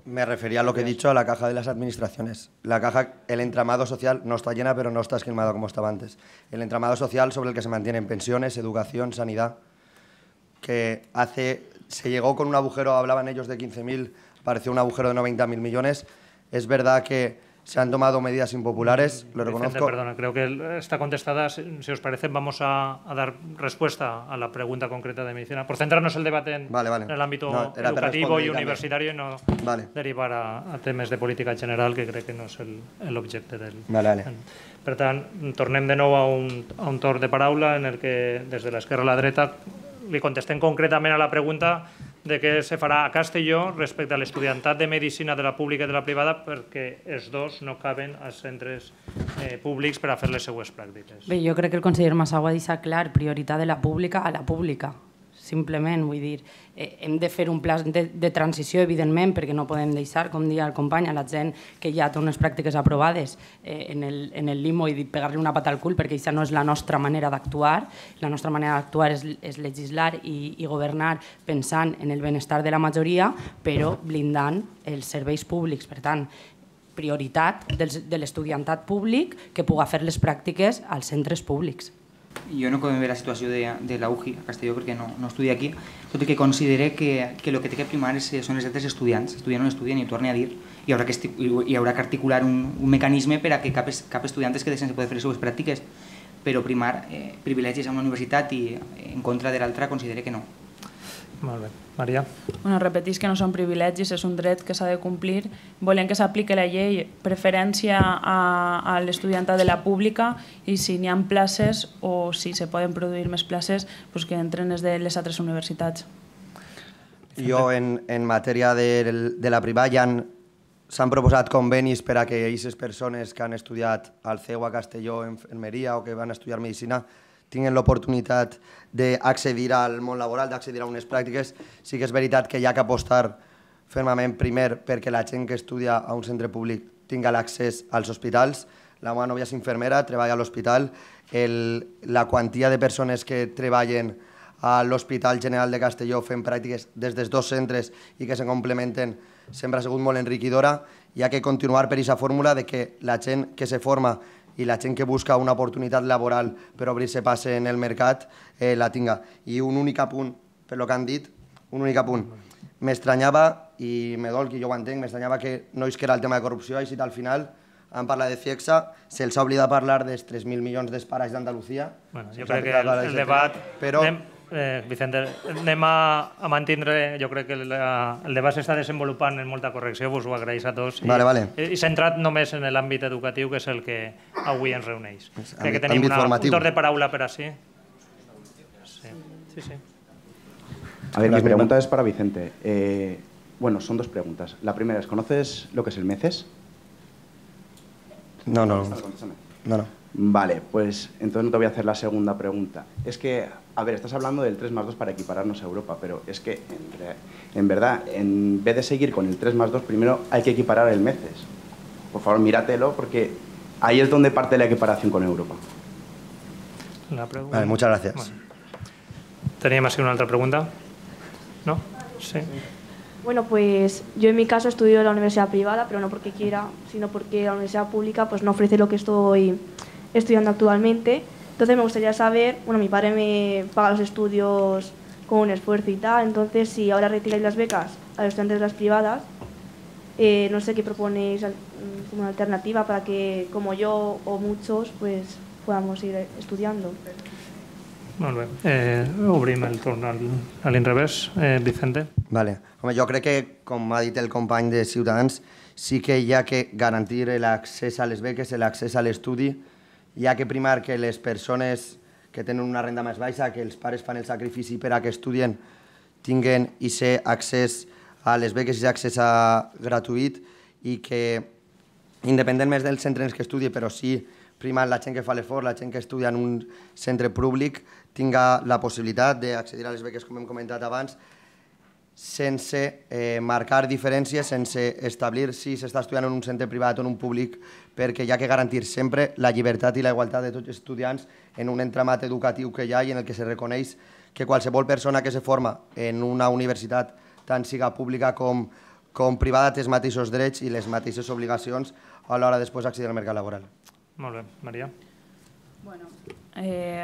Me refería a lo que he dicho, a la caja de las administraciones. La caja, el entramado social no está llena, pero no está esquilmado como estaba antes. El entramado social sobre el que se mantienen pensiones, educación, sanidad, que hace, se llegó con un agujero, hablaban ellos de quince mil, pareció un agujero de noventa mil millones. Es verdad que se han tomado medidas impopulares, lo reconozco. Vicente, perdona, creo que está contestada. Si os parece, vamos a, a dar respuesta a la pregunta concreta de medicina, por centrarnos el debate en, vale, vale. en el ámbito no, educativo y universitario y no vale. derivar a, a temes de política general, que crec que no és l'objecte del... Vale, vale. Per tant, tornem de nou a un, a un torn de paraula en el que des de l'esquerra a la dreta li contestem concretament a la pregunta de què se farà a Castelló respecte a l'estudiantat de medicina de la pública i de la privada, perquè els dos no caben als centres eh, públics per a fer les seues pràctiques. Bé, jo crec que el conseller Massau ha deixat clar prioritat de la pública a la pública. simplement, vull dir, eh, hem de fer un pla de, de transició, evidentment, perquè no podem deixar, com deia el company, a la gent que ja té unes pràctiques aprovades eh, en, el, en el limo i pegar-li una pata al cul, perquè això no és la nostra manera d'actuar. La nostra manera d'actuar és, és legislar i, i governar pensant en el benestar de la majoria, però blindant els serveis públics. Per tant, prioritat de l'estudiantat públic que puga fer les pràctiques als centres públics. Jo no conec bé la situació de, de la U J I a Castelló perquè no, no estudia aquí, tot i que considere que, que el que té que primar és, són els altres estudiants. Estudien o no estudien, i ho torne a dir, hi haurà que, hi haurà que articular un, un mecanisme per a que cap, cap estudiant es quedi sense poder fer les seves pràctiques, però primar eh, privilegis a una universitat i en contra de l'altra considere que no. Molt bé. Maria? Bueno, repetís que no són privilegis, és un dret que s'ha de complir. Volem que s'apliqui la llei, preferència a, a l'estudiantat de la pública, i si n'hi ha places o si se poden produir més places, doncs que entren des de les altres universitats. Jo, en, en matèria de, de la privada, ja s'han proposat convenis per a que aquestes persones que han estudiat al C E U a Castelló, en Almeria, o que van estudiar Medicina, tinguin l'oportunitat d'accedir al món laboral, d'accedir a unes pràctiques. Sí que és veritat que hi ha que apostar fermament primer perquè la gent que estudia a un centre públic tinga l'accés als hospitals. La meva nòvia és infermera, treballa a l'hospital. La quantia de persones que treballen a l'Hospital General de Castelló fent pràctiques des dels dos centres i que se complementen sempre ha sigut molt enriquidora. Hi ha que continuar per aquesta fórmula de que la gent que se forma i la gent que busca una oportunitat laboral per obrir-se pas en el mercat eh, la tinga. I un únic apunt, per lo que han dit, un únic apunt. M'estranyava, i me dol que jo ho entenc, m'estranyava que no isquera el tema de corrupció, i si al final han parlat de CIEXA, se'ls ha oblidat parlar dels tres mil milions d'esparais d'Andalusia. Bueno, jo crec que el, el debat... Però... Anem, eh, Vicente, anem a, a mantindre, jo crec que la, el debat s'està desenvolupant en molta correcció, us ho agraeix a tots, i, vale, vale. i centrat només en l'àmbit educatiu, que és el que avui ens reuneix. Crec que tenim àmbit una, formatiu. un torn de paraula per així. Sí, sí, sí. A ver, mi pregunta es para Vicente. Eh, bueno, son dos preguntas. La primera es, ¿conoces lo que es el MECES? No, no. No, no. Vale, pues entonces no te voy a hacer la segunda pregunta. Es que, a ver, estás hablando del tres más dos para equipararnos a Europa, pero es que, en, en verdad, en vez de seguir con el tres más dos, primero hay que equiparar el MECES. Por favor, míratelo, porque ahí es donde parte la equiparación con Europa. La pregunta... Vale, muchas gracias. Bueno. ¿Teníamos así una otra pregunta? ¿No? Sí. Bueno, pues yo en mi caso estudio en la universidad privada, pero no porque quiera, sino porque la universidad pública pues no ofrece lo que estoy estudiando actualmente. Entonces me gustaría saber, bueno, mi padre me paga los estudios con un esfuerzo y tal, entonces si ahora retiráis las becas a los estudiantes de las privadas, eh, no sé qué proponéis como una alternativa para que, como yo o muchos, pues podamos ir estudiando. Molt bé. Eh, obrim el torn a l'inrevés. Eh, Vicente? Vale. Home, jo crec que, com ha dit el company de Ciutadans, sí que hi ha que garantir l'accés a les beques, l'accés a l'estudi. Hi ha que primar que les persones que tenen una renda més baixa, que els pares fan el sacrifici per a que estudien, tinguen aquest accés a les beques i accés a gratuït, i que, independent més del centre en què estudi, però sí primant la gent que fa l'esforç, la gent que estudia en un centre públic, tinga la possibilitat d'accedir a les beques, com hem comentat abans, sense eh, marcar diferències, sense establir si s'està estudiant en un centre privat o en un públic, perquè hi ha que garantir sempre la llibertat i la igualtat de tots els estudiants en un entramat educatiu que hi ha i en el que se reconeix que qualsevol persona que se forma en una universitat, tant siga pública com, com privada, té els mateixos drets i les mateixes obligacions a l'hora després d'accedir al mercat laboral. Molt bé. Maria? Bueno, eh,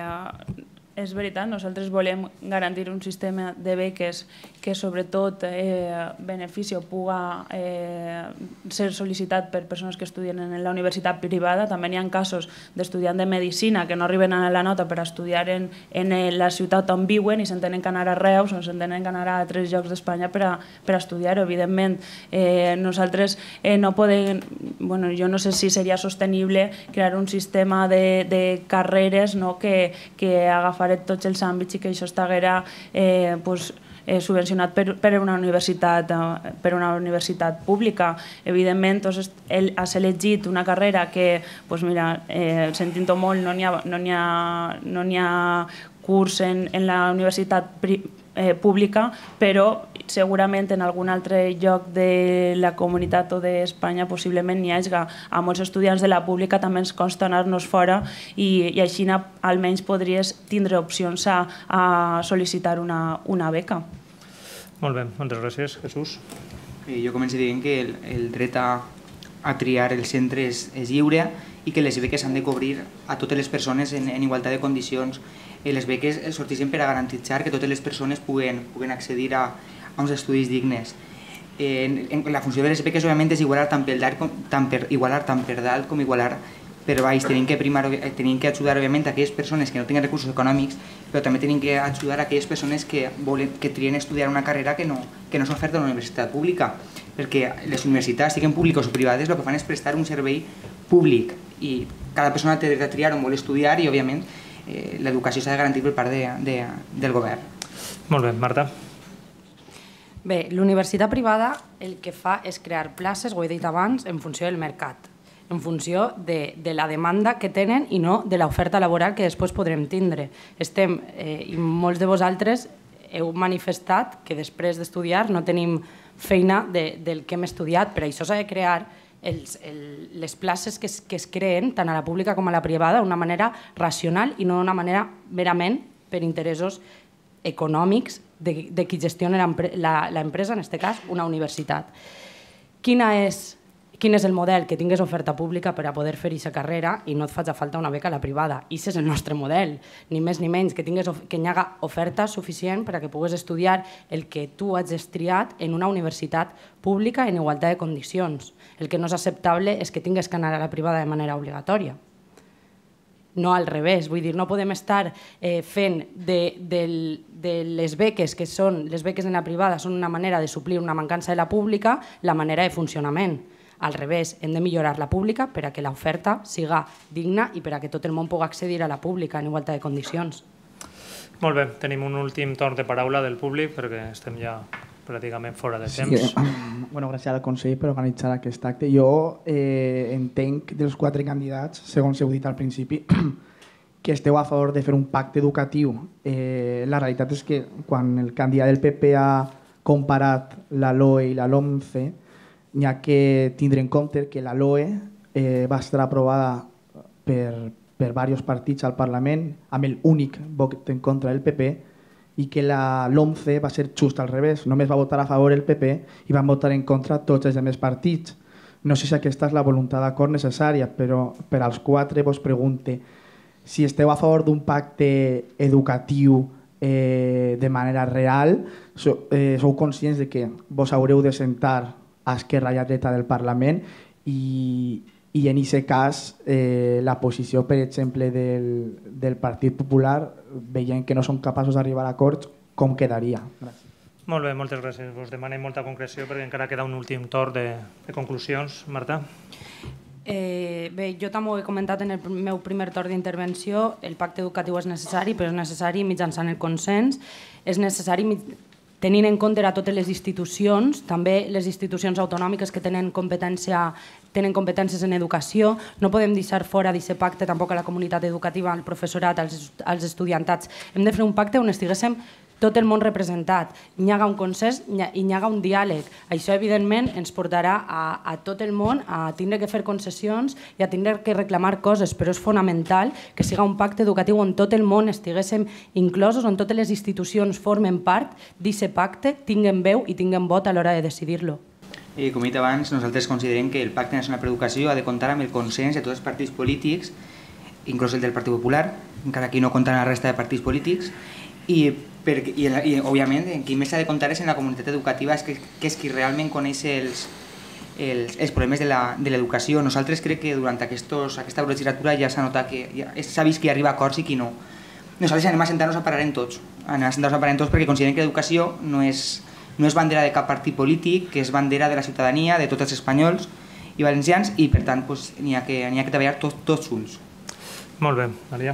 és veritat, nosaltres volem garantir un sistema de beques que sobretot eh, benefici o puga eh, ser sol·licitat per persones que estudien en la universitat privada. També hi ha casos d'estudiants de Medicina que no arriben a la nota per estudiar en, en la ciutat on viuen i s'entenen que anar a Reus o s'entenen que anar a altres llocs d'Espanya per, a, per a estudiar. Evidentment, eh, nosaltres eh, no podem... Bueno, jo no sé si seria sostenible crear un sistema de, de carreres, no, que, que agafaré tots els àmbits i que això estaguera eh, pues, eh, subvencionat per, per, una universitat, eh, per una universitat pública. Evidentment, doncs, ell has elegit una carrera que, doncs mira, eh, sentint-ho molt, no n'hi ha, no n'hi ha, no n'hi ha curs en, en la universitat privada, Eh, pública, però segurament en algun altre lloc de la comunitat o d'Espanya possiblement n'hi hagi. A molts estudiants de la pública també ens costa anar-nos fora i, i així almenys podries tindre opcions a, a sol·licitar una, una beca. Molt bé, moltes gràcies. Jesús? Eh, jo començo dient que el, el dret a, a triar el centre és, és lliure i que les beques s'han de cobrir a totes les persones en, en igualtat de condicions. Les beques sorteixen per a garantitzar que totes les persones puguen, puguen accedir a, a uns estudis dignes. Eh, en, la funció de les beques, òbviament, és igualar tant per, tant per, igualar tant per dalt com igualar per baix. Tenim que, primar, tenim que ajudar, òbviament, a aquelles persones que no tenen recursos econòmics, però també tenim que ajudar a aquelles persones que, volen, que trien estudiar una carrera que no, que no s'oferta a una universitat pública, perquè les universitats, siguin públiques o privades, el que fan és prestar un servei públic i cada persona té dret a triar on vol estudiar i, òbviament, Eh, l'educació s'ha de garantir per part de, de, del govern. Molt bé, Marta. Bé, l'universitat privada el que fa és crear places, ho he dit abans, en funció del mercat, en funció de, de la demanda que tenen i no de l'oferta laboral que després podrem tindre. Estem, eh, i molts de vosaltres heu manifestat que després d'estudiar no tenim feina de, del que hem estudiat, però això s'ha de crear Els, el, les places que es, que es creen tant a la pública com a la privada d'una manera racional i no d'una manera merament per interessos econòmics de, de qui gestiona l'empresa, en aquest cas una universitat. Quina és, quin és el model? Que tingués oferta pública per a poder fer aquesta carrera i no et faci falta una beca a la privada. I aquest és el nostre model, ni més ni menys, que, tingues, que hi haga oferta suficient per a que pugues estudiar el que tu has estriat en una universitat pública en igualtat de condicions. El que no és acceptable és que tingues que anar a la privada de manera obligatòria. No al revés, vull dir, no podem estar eh, fent de, de, de les beques, que són les beques en la privada, són una manera de suplir una mancança de la pública, la manera de funcionament. Al revés, hem de millorar la pública per a que l'oferta siga digna i per a que tot el món pugui accedir a la pública en igualtat de condicions. Molt bé, tenim un últim torn de paraula del públic perquè estem ja pràcticament fora de temps. Sí, um, bueno, gràcies al Consell per organitzar aquest acte. Jo eh, entenc dels quatre candidats, segons heu dit al principi, que esteu a favor de fer un pacte educatiu. Eh, la realitat és que quan el candidat del P P ha comparat la LOE i la LOMCE, n'hi ha que tindre en compte que la LOE eh, va estar aprovada per, per diversos partits al Parlament amb l'únic vot en contra del P P i que la LOMCE va ser just al revés. Només va votar a favor el P P i van votar en contra tots els altres partits. No sé si aquesta és la voluntat d'acord necessària, però per als quatre vos pregunte si esteu a favor d'un pacte educatiu eh, de manera real, so, eh, sou conscients de que vos haureu de sentar a esquerra i a dreta del Parlament i, i en aquest cas eh, la posició, per exemple, del, del Partit Popular, veient que no són capaços d'arribar a acords, com quedaria? Gràcies. Molt bé, moltes gràcies. Vos demanem molta concreció perquè encara queda un últim torn de, de conclusions. Marta? Eh, bé, jo també ho he comentat en el meu primer torn d'intervenció, el pacte educatiu és necessari, però és necessari mitjançant el consens, és necessari tenint en compte a totes les institucions, també les institucions autonòmiques que tenen competència tenen competències en educació, no podem deixar fora d'aquest pacte tampoc a la comunitat educativa, al professorat, als, als estudiantats. Hem de fer un pacte on estiguéssim tot el món representat, hi ha un consens i hi ha un diàleg. Això, evidentment, ens portarà a, a tot el món a tindre que fer concessions i a tindre que reclamar coses, però és fonamental que siga un pacte educatiu on tot el món estiguéssim inclosos, on totes les institucions formen part d'aquest pacte, tinguen veu i tinguen vot a l'hora de decidir-lo. Eh, com he dit abans, nosaltres considerem que el Pacte Nacional per l'Educació ha de comptar amb el consens de tots els partits polítics, inclús el del Partit Popular, encara que no compta amb la resta de partits polítics, i, per, i, i òbviament qui més s'ha de comptar és en la comunitat educativa, és que, que és qui realment coneix els, els, els problemes de l'educació. Nosaltres crec que durant aquestos, aquesta legislatura ja s'ha notat que ja, s'ha vist qui arriba a acords i qui no. Nosaltres anem a sentar-nos a parar en tots, anem a sentar-nos a parar en tots perquè considerem que l'educació no és no és bandera de cap partit polític, que és bandera de la ciutadania, de tots els espanyols i valencians, i per tant n'hi ha que treballar tots junts. Molt bé, Maria.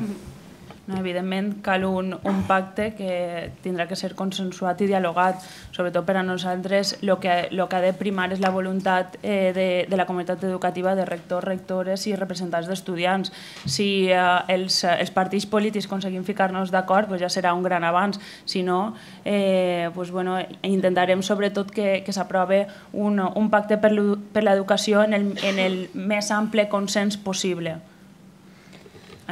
Evidentment, cal un, un pacte que tindrà que ser consensuat i dialogat. Sobretot per a nosaltres, el que, lo que ha de primar és la voluntat eh, de, de la comunitat educativa, de rectors, rectores i representants d'estudiants. Si eh, els, els partits polítics aconseguim ficar-nos d'acord, pues ja serà un gran avanç. Si no, eh, pues bueno, intentarem sobretot que, que s'aprove un, un pacte per l'educació en, el, en el més ample consens possible.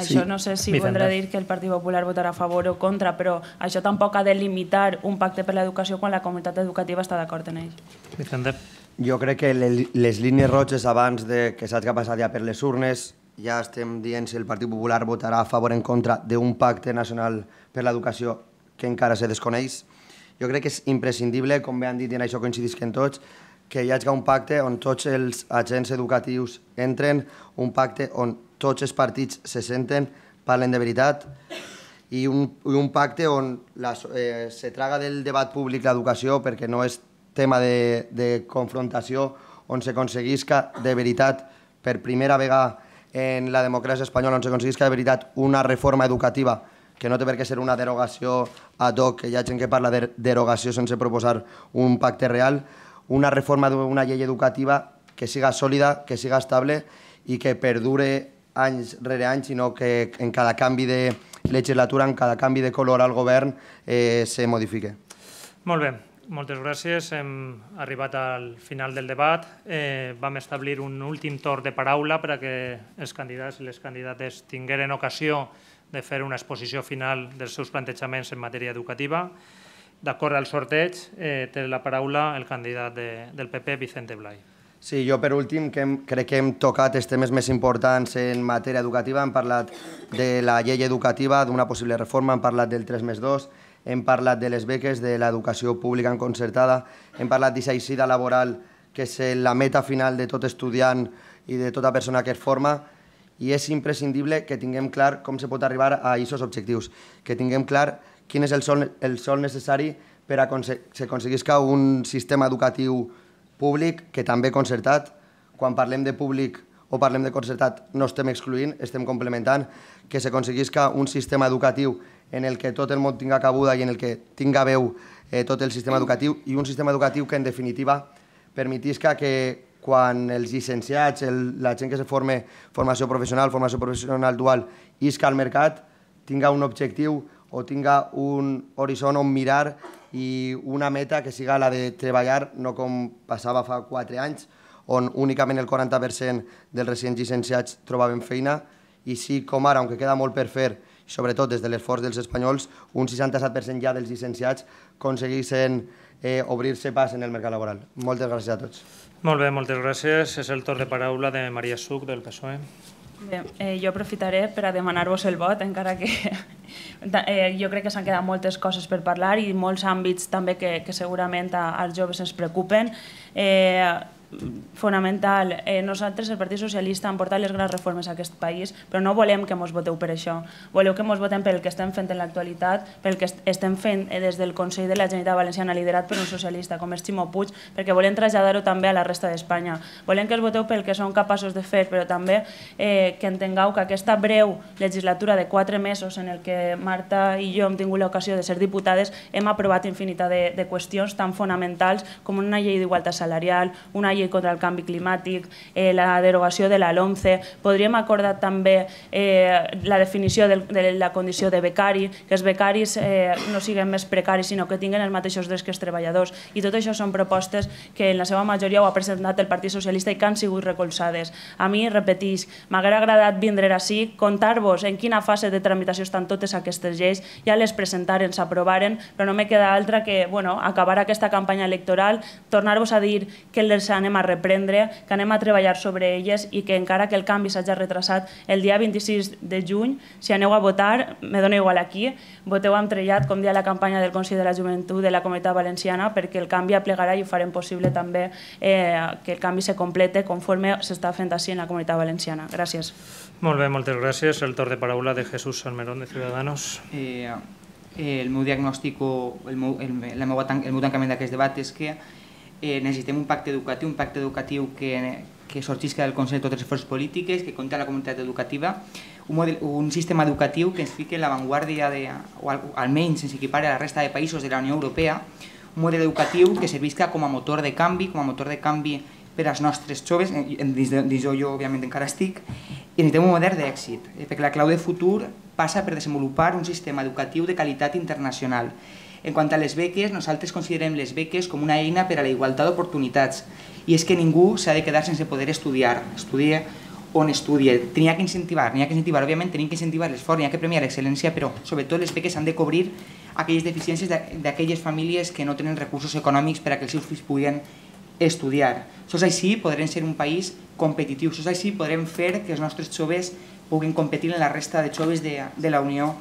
Això no sé si voldrà dir que el Partit Popular votarà a favor o contra, però això tampoc ha de limitar un pacte per l'educació quan la comunitat educativa està d'acord en ell. Vicente. Jo crec que les línies roges abans de que saps què ha passat ja per les urnes, ja estem dient si el Partit Popular votarà a favor o en contra d'un pacte nacional per l'educació que encara se desconeix. Jo crec que és imprescindible, com bé han dit i en això coincidisquen tots, que hi hagi un pacte on tots els agents educatius entren, un pacte on tots els partits se senten, parlen de veritat, i un, i un pacte on la, eh, se traga del debat públic l'educació perquè no és tema de, de confrontació, on s'aconseguisca de veritat, per primera vegada en la democràcia espanyola, on s'aconseguisca de veritat una reforma educativa que no té per què ser una derogació ad hoc, que hi ha gent que parla de derogació sense proposar un pacte real, una reforma d'una llei educativa que siga sòlida, que siga estable i que perdure anys rere anys, sinó que en cada canvi de legislatura, en cada canvi de color al govern, eh, se modifique. Molt bé, moltes gràcies. Hem arribat al final del debat. Eh, vam establir un últim torn de paraula perquè els candidats i les candidates tingueren ocasió de fer una exposició final dels seus plantejaments en matèria educativa. D'acord al sorteig, eh, té la paraula el candidat de, del P P, Vicente Blay. Sí, jo per últim que hem, crec que hem tocat els temes més importants en matèria educativa. Hem parlat de la llei educativa, d'una possible reforma, hem parlat del tres més dos, hem parlat de les beques, de l'educació pública en concertada, hem parlat d'aquesta eixida laboral que és la meta final de tot estudiant i de tota persona que es forma, i és imprescindible que tinguem clar com se pot arribar a aquests objectius, que tinguem clar quin és el sol, el sol necessari per a que s'aconseguisca un sistema educatiu públic, que també concertat. Quan parlem de públic o parlem de concertat no estem excloent, estem complementant, que s'aconseguisca un sistema educatiu en el que tot el món tinga cabuda i en el que tinga veu eh, tot el sistema educatiu, i un sistema educatiu que en definitiva permetisca que quan els llicenciats, el, la gent que se forme formació professional, formació professional dual, isca al mercat, tinga un objectiu o tinga un horitzó on mirar i una meta que siga la de treballar, no com passava fa quatre anys, on únicament el quaranta per cent dels recents llicenciats trobaven feina, i sí, com ara, aunque queda molt per fer, sobretot des de l'esforç dels espanyols, un seixanta-set per cent ja dels llicenciats aconseguissin eh, obrir-se pas en el mercat laboral. Moltes gràcies a tots. Molt bé, moltes gràcies. És el torn de paraula de Maria Such, del P S O E. Bé, eh, jo aprofitaré per a demanar-vos el vot, encara que eh, jo crec que s'han quedat moltes coses per parlar i molts àmbits també que, que segurament a, als joves ens preocupen. Eh, fonamental. Eh, nosaltres, el Partit Socialista, hem portat les grans reformes a aquest país, però no volem que mos voteu per això. Voleu que mos votem pel que estem fent en l'actualitat, pel que estem fent des del Consell de la Generalitat Valenciana, liderat per un socialista com és Ximo Puig, perquè volem traslladar-ho també a la resta d'Espanya. Volem que els voteu pel que són capaços de fer, però també eh, que entengueu que aquesta breu legislatura de quatre mesos en el que Marta i jo hem tingut l'ocasió de ser diputades, hem aprovat infinitat de, de qüestions tan fonamentals com una llei d'igualtat salarial, una llei contra el canvi climàtic, eh, la derogació de la LOMCE. Podríem acordar també eh, la definició de, de la condició de becari, que els becaris eh, no siguin més precaris, sinó que tinguin els mateixos drets que els treballadors. I tot això són propostes que en la seva majoria ho ha presentat el Partit Socialista i que han sigut recolzades. A mi, repetís, m'haguera agradat vindre ací, contar-vos en quina fase de tramitació estan totes aquestes lleis, ja les presentaren, s'aprovaren, però no me queda altra que bueno, acabar aquesta campanya electoral, tornar-vos a dir que les anem a reprendre, que anem a treballar sobre elles i que encara que el canvi s'hagi retrasat el dia vint-i-sis de juny, si aneu a votar, me dona igual aquí, voteu amb trellat, com dia la campanya del Consell de la Joventut de la Comunitat Valenciana, perquè el canvi aplegarà i ho farem possible també eh, que el canvi se complete conforme s'està fent així en la Comunitat Valenciana. Gràcies. Molt bé, moltes gràcies. El torn de paraula de Jesús Salmerón, de Ciudadanos. Eh, el meu diagnòstic o el meu, el, el meu, el meu tancament d'aquest debat és que Eh, necessitem un pacte educatiu, un pacte educatiu que, que sorgisca del Consell de totes les forces polítiques, que compta la comunitat educativa, un, model, un sistema educatiu que ens fiqui en l'avantguàrdia, o al, almenys ens equipare a la resta de països de la Unió Europea, un model educatiu que servisca com a motor de canvi, com a motor de canvi per als nostres joves, dins d'on jo òbviament encara estic, i necessitem un model d'èxit, perquè la clau de futur passa per desenvolupar un sistema educatiu de qualitat internacional. En quant a les beques, nosaltres considerem les beques com una eina per a la igualtat d'oportunitats, i és que ningú s'ha de quedar sense poder estudiar, estudie on estudie. N'hi ha que incentivar, n'hi ha que incentivar, òbviament tenim que incentivar l'esforç, n'hi ha que premiar l'excel·lència, però sobretot les beques han de cobrir aquelles deficiències d'aquelles famílies que no tenen recursos econòmics per a que els seus fills puguin estudiar. Sols així podrem ser un país competitiu, sols així podrem fer que els nostres joves puguin competir en la resta de joves de, de la Unió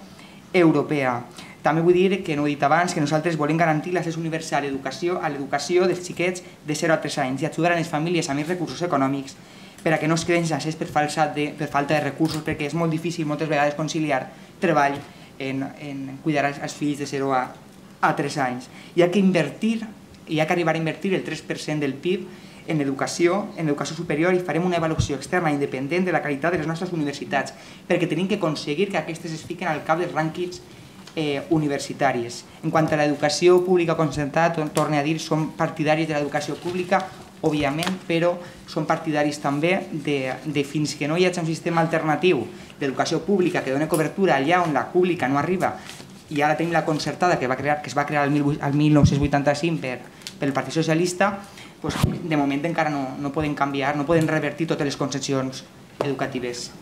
Europea. També vull dir, que no ho he dit abans, que nosaltres volem garantir l'accés universal a l'educació dels xiquets de zero a tres anys i ajudar a les famílies amb més recursos econòmics per a que no es queden sense accés per falta de recursos, perquè és molt difícil moltes vegades conciliar treball en, en cuidar els fills de zero a tres anys. Hi ha que invertir, hi ha que arribar a invertir el tres per cent del P I B en educació, en educació superior, i farem una avaluació externa independent de la qualitat de les nostres universitats, perquè tenim que aconseguir que aquestes es fiquen al cap dels rànquings eh, universitaris. En quant a l'educació pública concertada, torno a dir, som partidaris de l'educació pública, òbviament, però són partidaris també de, de fins que no hi hagi un sistema alternatiu d'educació pública que doni cobertura allà on la pública no arriba, i ara tenim la concertada que, va crear, que es va crear el mil nou-cents vuitanta-cinc per, pel Partit Socialista, doncs, de moment encara no, no poden canviar, no poden revertir totes les concessions educatives.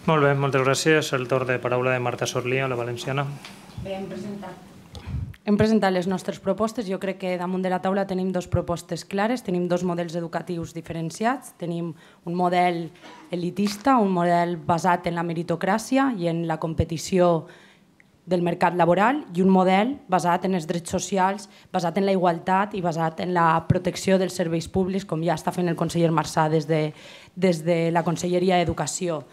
Molt bé, moltes gràcies. El torn de paraula de Marta Sorlia, la valenciana. Bé, hem presentat. Hem presentat les nostres propostes. Jo crec que damunt de la taula tenim dues propostes clares, tenim dos models educatius diferenciats, tenim un model elitista, un model basat en la meritocràcia i en la competició del mercat laboral, i un model basat en els drets socials, basat en la igualtat i basat en la protecció dels serveis públics, com ja està fent el conseller Marsà des de, des de la Conselleria d'Educació.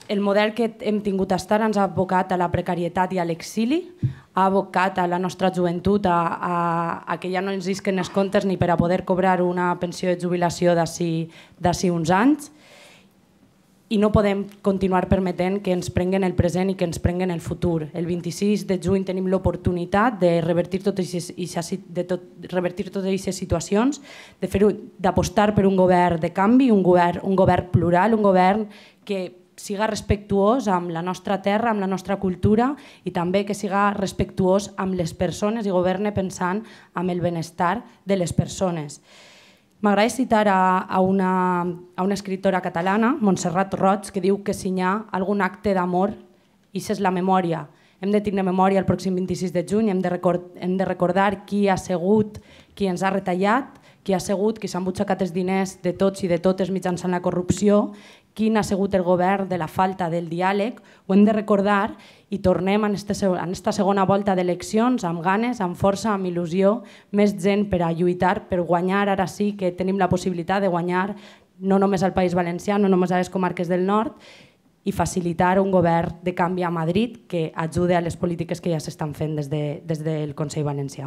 El model que hem tingut a estar ens ha abocat a la precarietat i a l'exili, ha abocat a la nostra joventut a, a, a que ja no ens isquen els comptes ni per a poder cobrar una pensió de jubilació d'ací uns anys, i no podem continuar permetent que ens prenguen el present i que ens prenguen el futur. El vint-i-sis de juny tenim l'oportunitat de revertir totes aquestes situacions, d'apostar per un govern de canvi, un govern, un govern plural, un govern que siga respectuós amb la nostra terra, amb la nostra cultura, i també que siga respectuós amb les persones i governe pensant en el benestar de les persones. M'agrada citar a, a, una, a una escriptora catalana, Montserrat Roig, que diu que si hi ha algun acte d'amor, això és la memòria. Hem de tenir memòria el pròxim vint-i-sis de juny, hem de, record, hem de recordar qui ha sigut, qui ens ha retallat, qui ha sigut, qui s'ha embutxacat els diners de tots i de totes mitjançant la corrupció, quin ha sigut el govern de la falta del diàleg. Ho hem de recordar i tornem en aquesta segona volta d'eleccions amb ganes, amb força, amb il·lusió, més gent per a lluitar, per guanyar. Ara sí que tenim la possibilitat de guanyar no només al País Valencià, no només a les comarques del nord, i facilitar un govern de canvi a Madrid que ajude a les polítiques que ja s'estan fent des, de, des del Consell Valencià.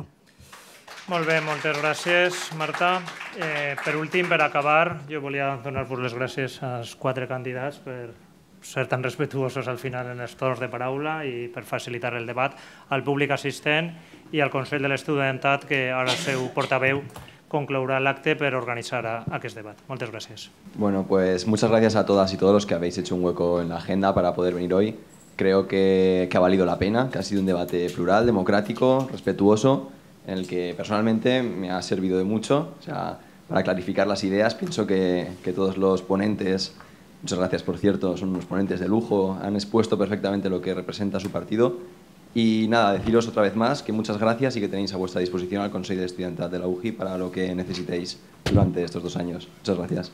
Molt bé, moltes gràcies, Marta. Eh, per últim, per acabar, jo volia donar-vos les gràcies als quatre candidats per ser tan respetuosos al final en els torns de paraula i per facilitar el debat, al públic assistent i al Consell de l'Estudiantat, que ara el seu portaveu conclourá el acte para organizar a, a este debate. Muchas gracias. Bueno, pues muchas gracias a todas y todos los que habéis hecho un hueco en la agenda para poder venir hoy. Creo que, que ha valido la pena, que ha sido un debate plural, democrático, respetuoso, en el que personalmente me ha servido de mucho. O sea, para clarificar las ideas, pienso que, que todos los ponentes, muchas gracias por cierto, son unos ponentes de lujo, han expuesto perfectamente lo que representa su partido. Y nada, deciros otra vez más que muchas gracias y que tenéis a vuestra disposición al Consejo de Estudiantat de la U G I para lo que necesitéis durante estos dos años. Muchas gracias.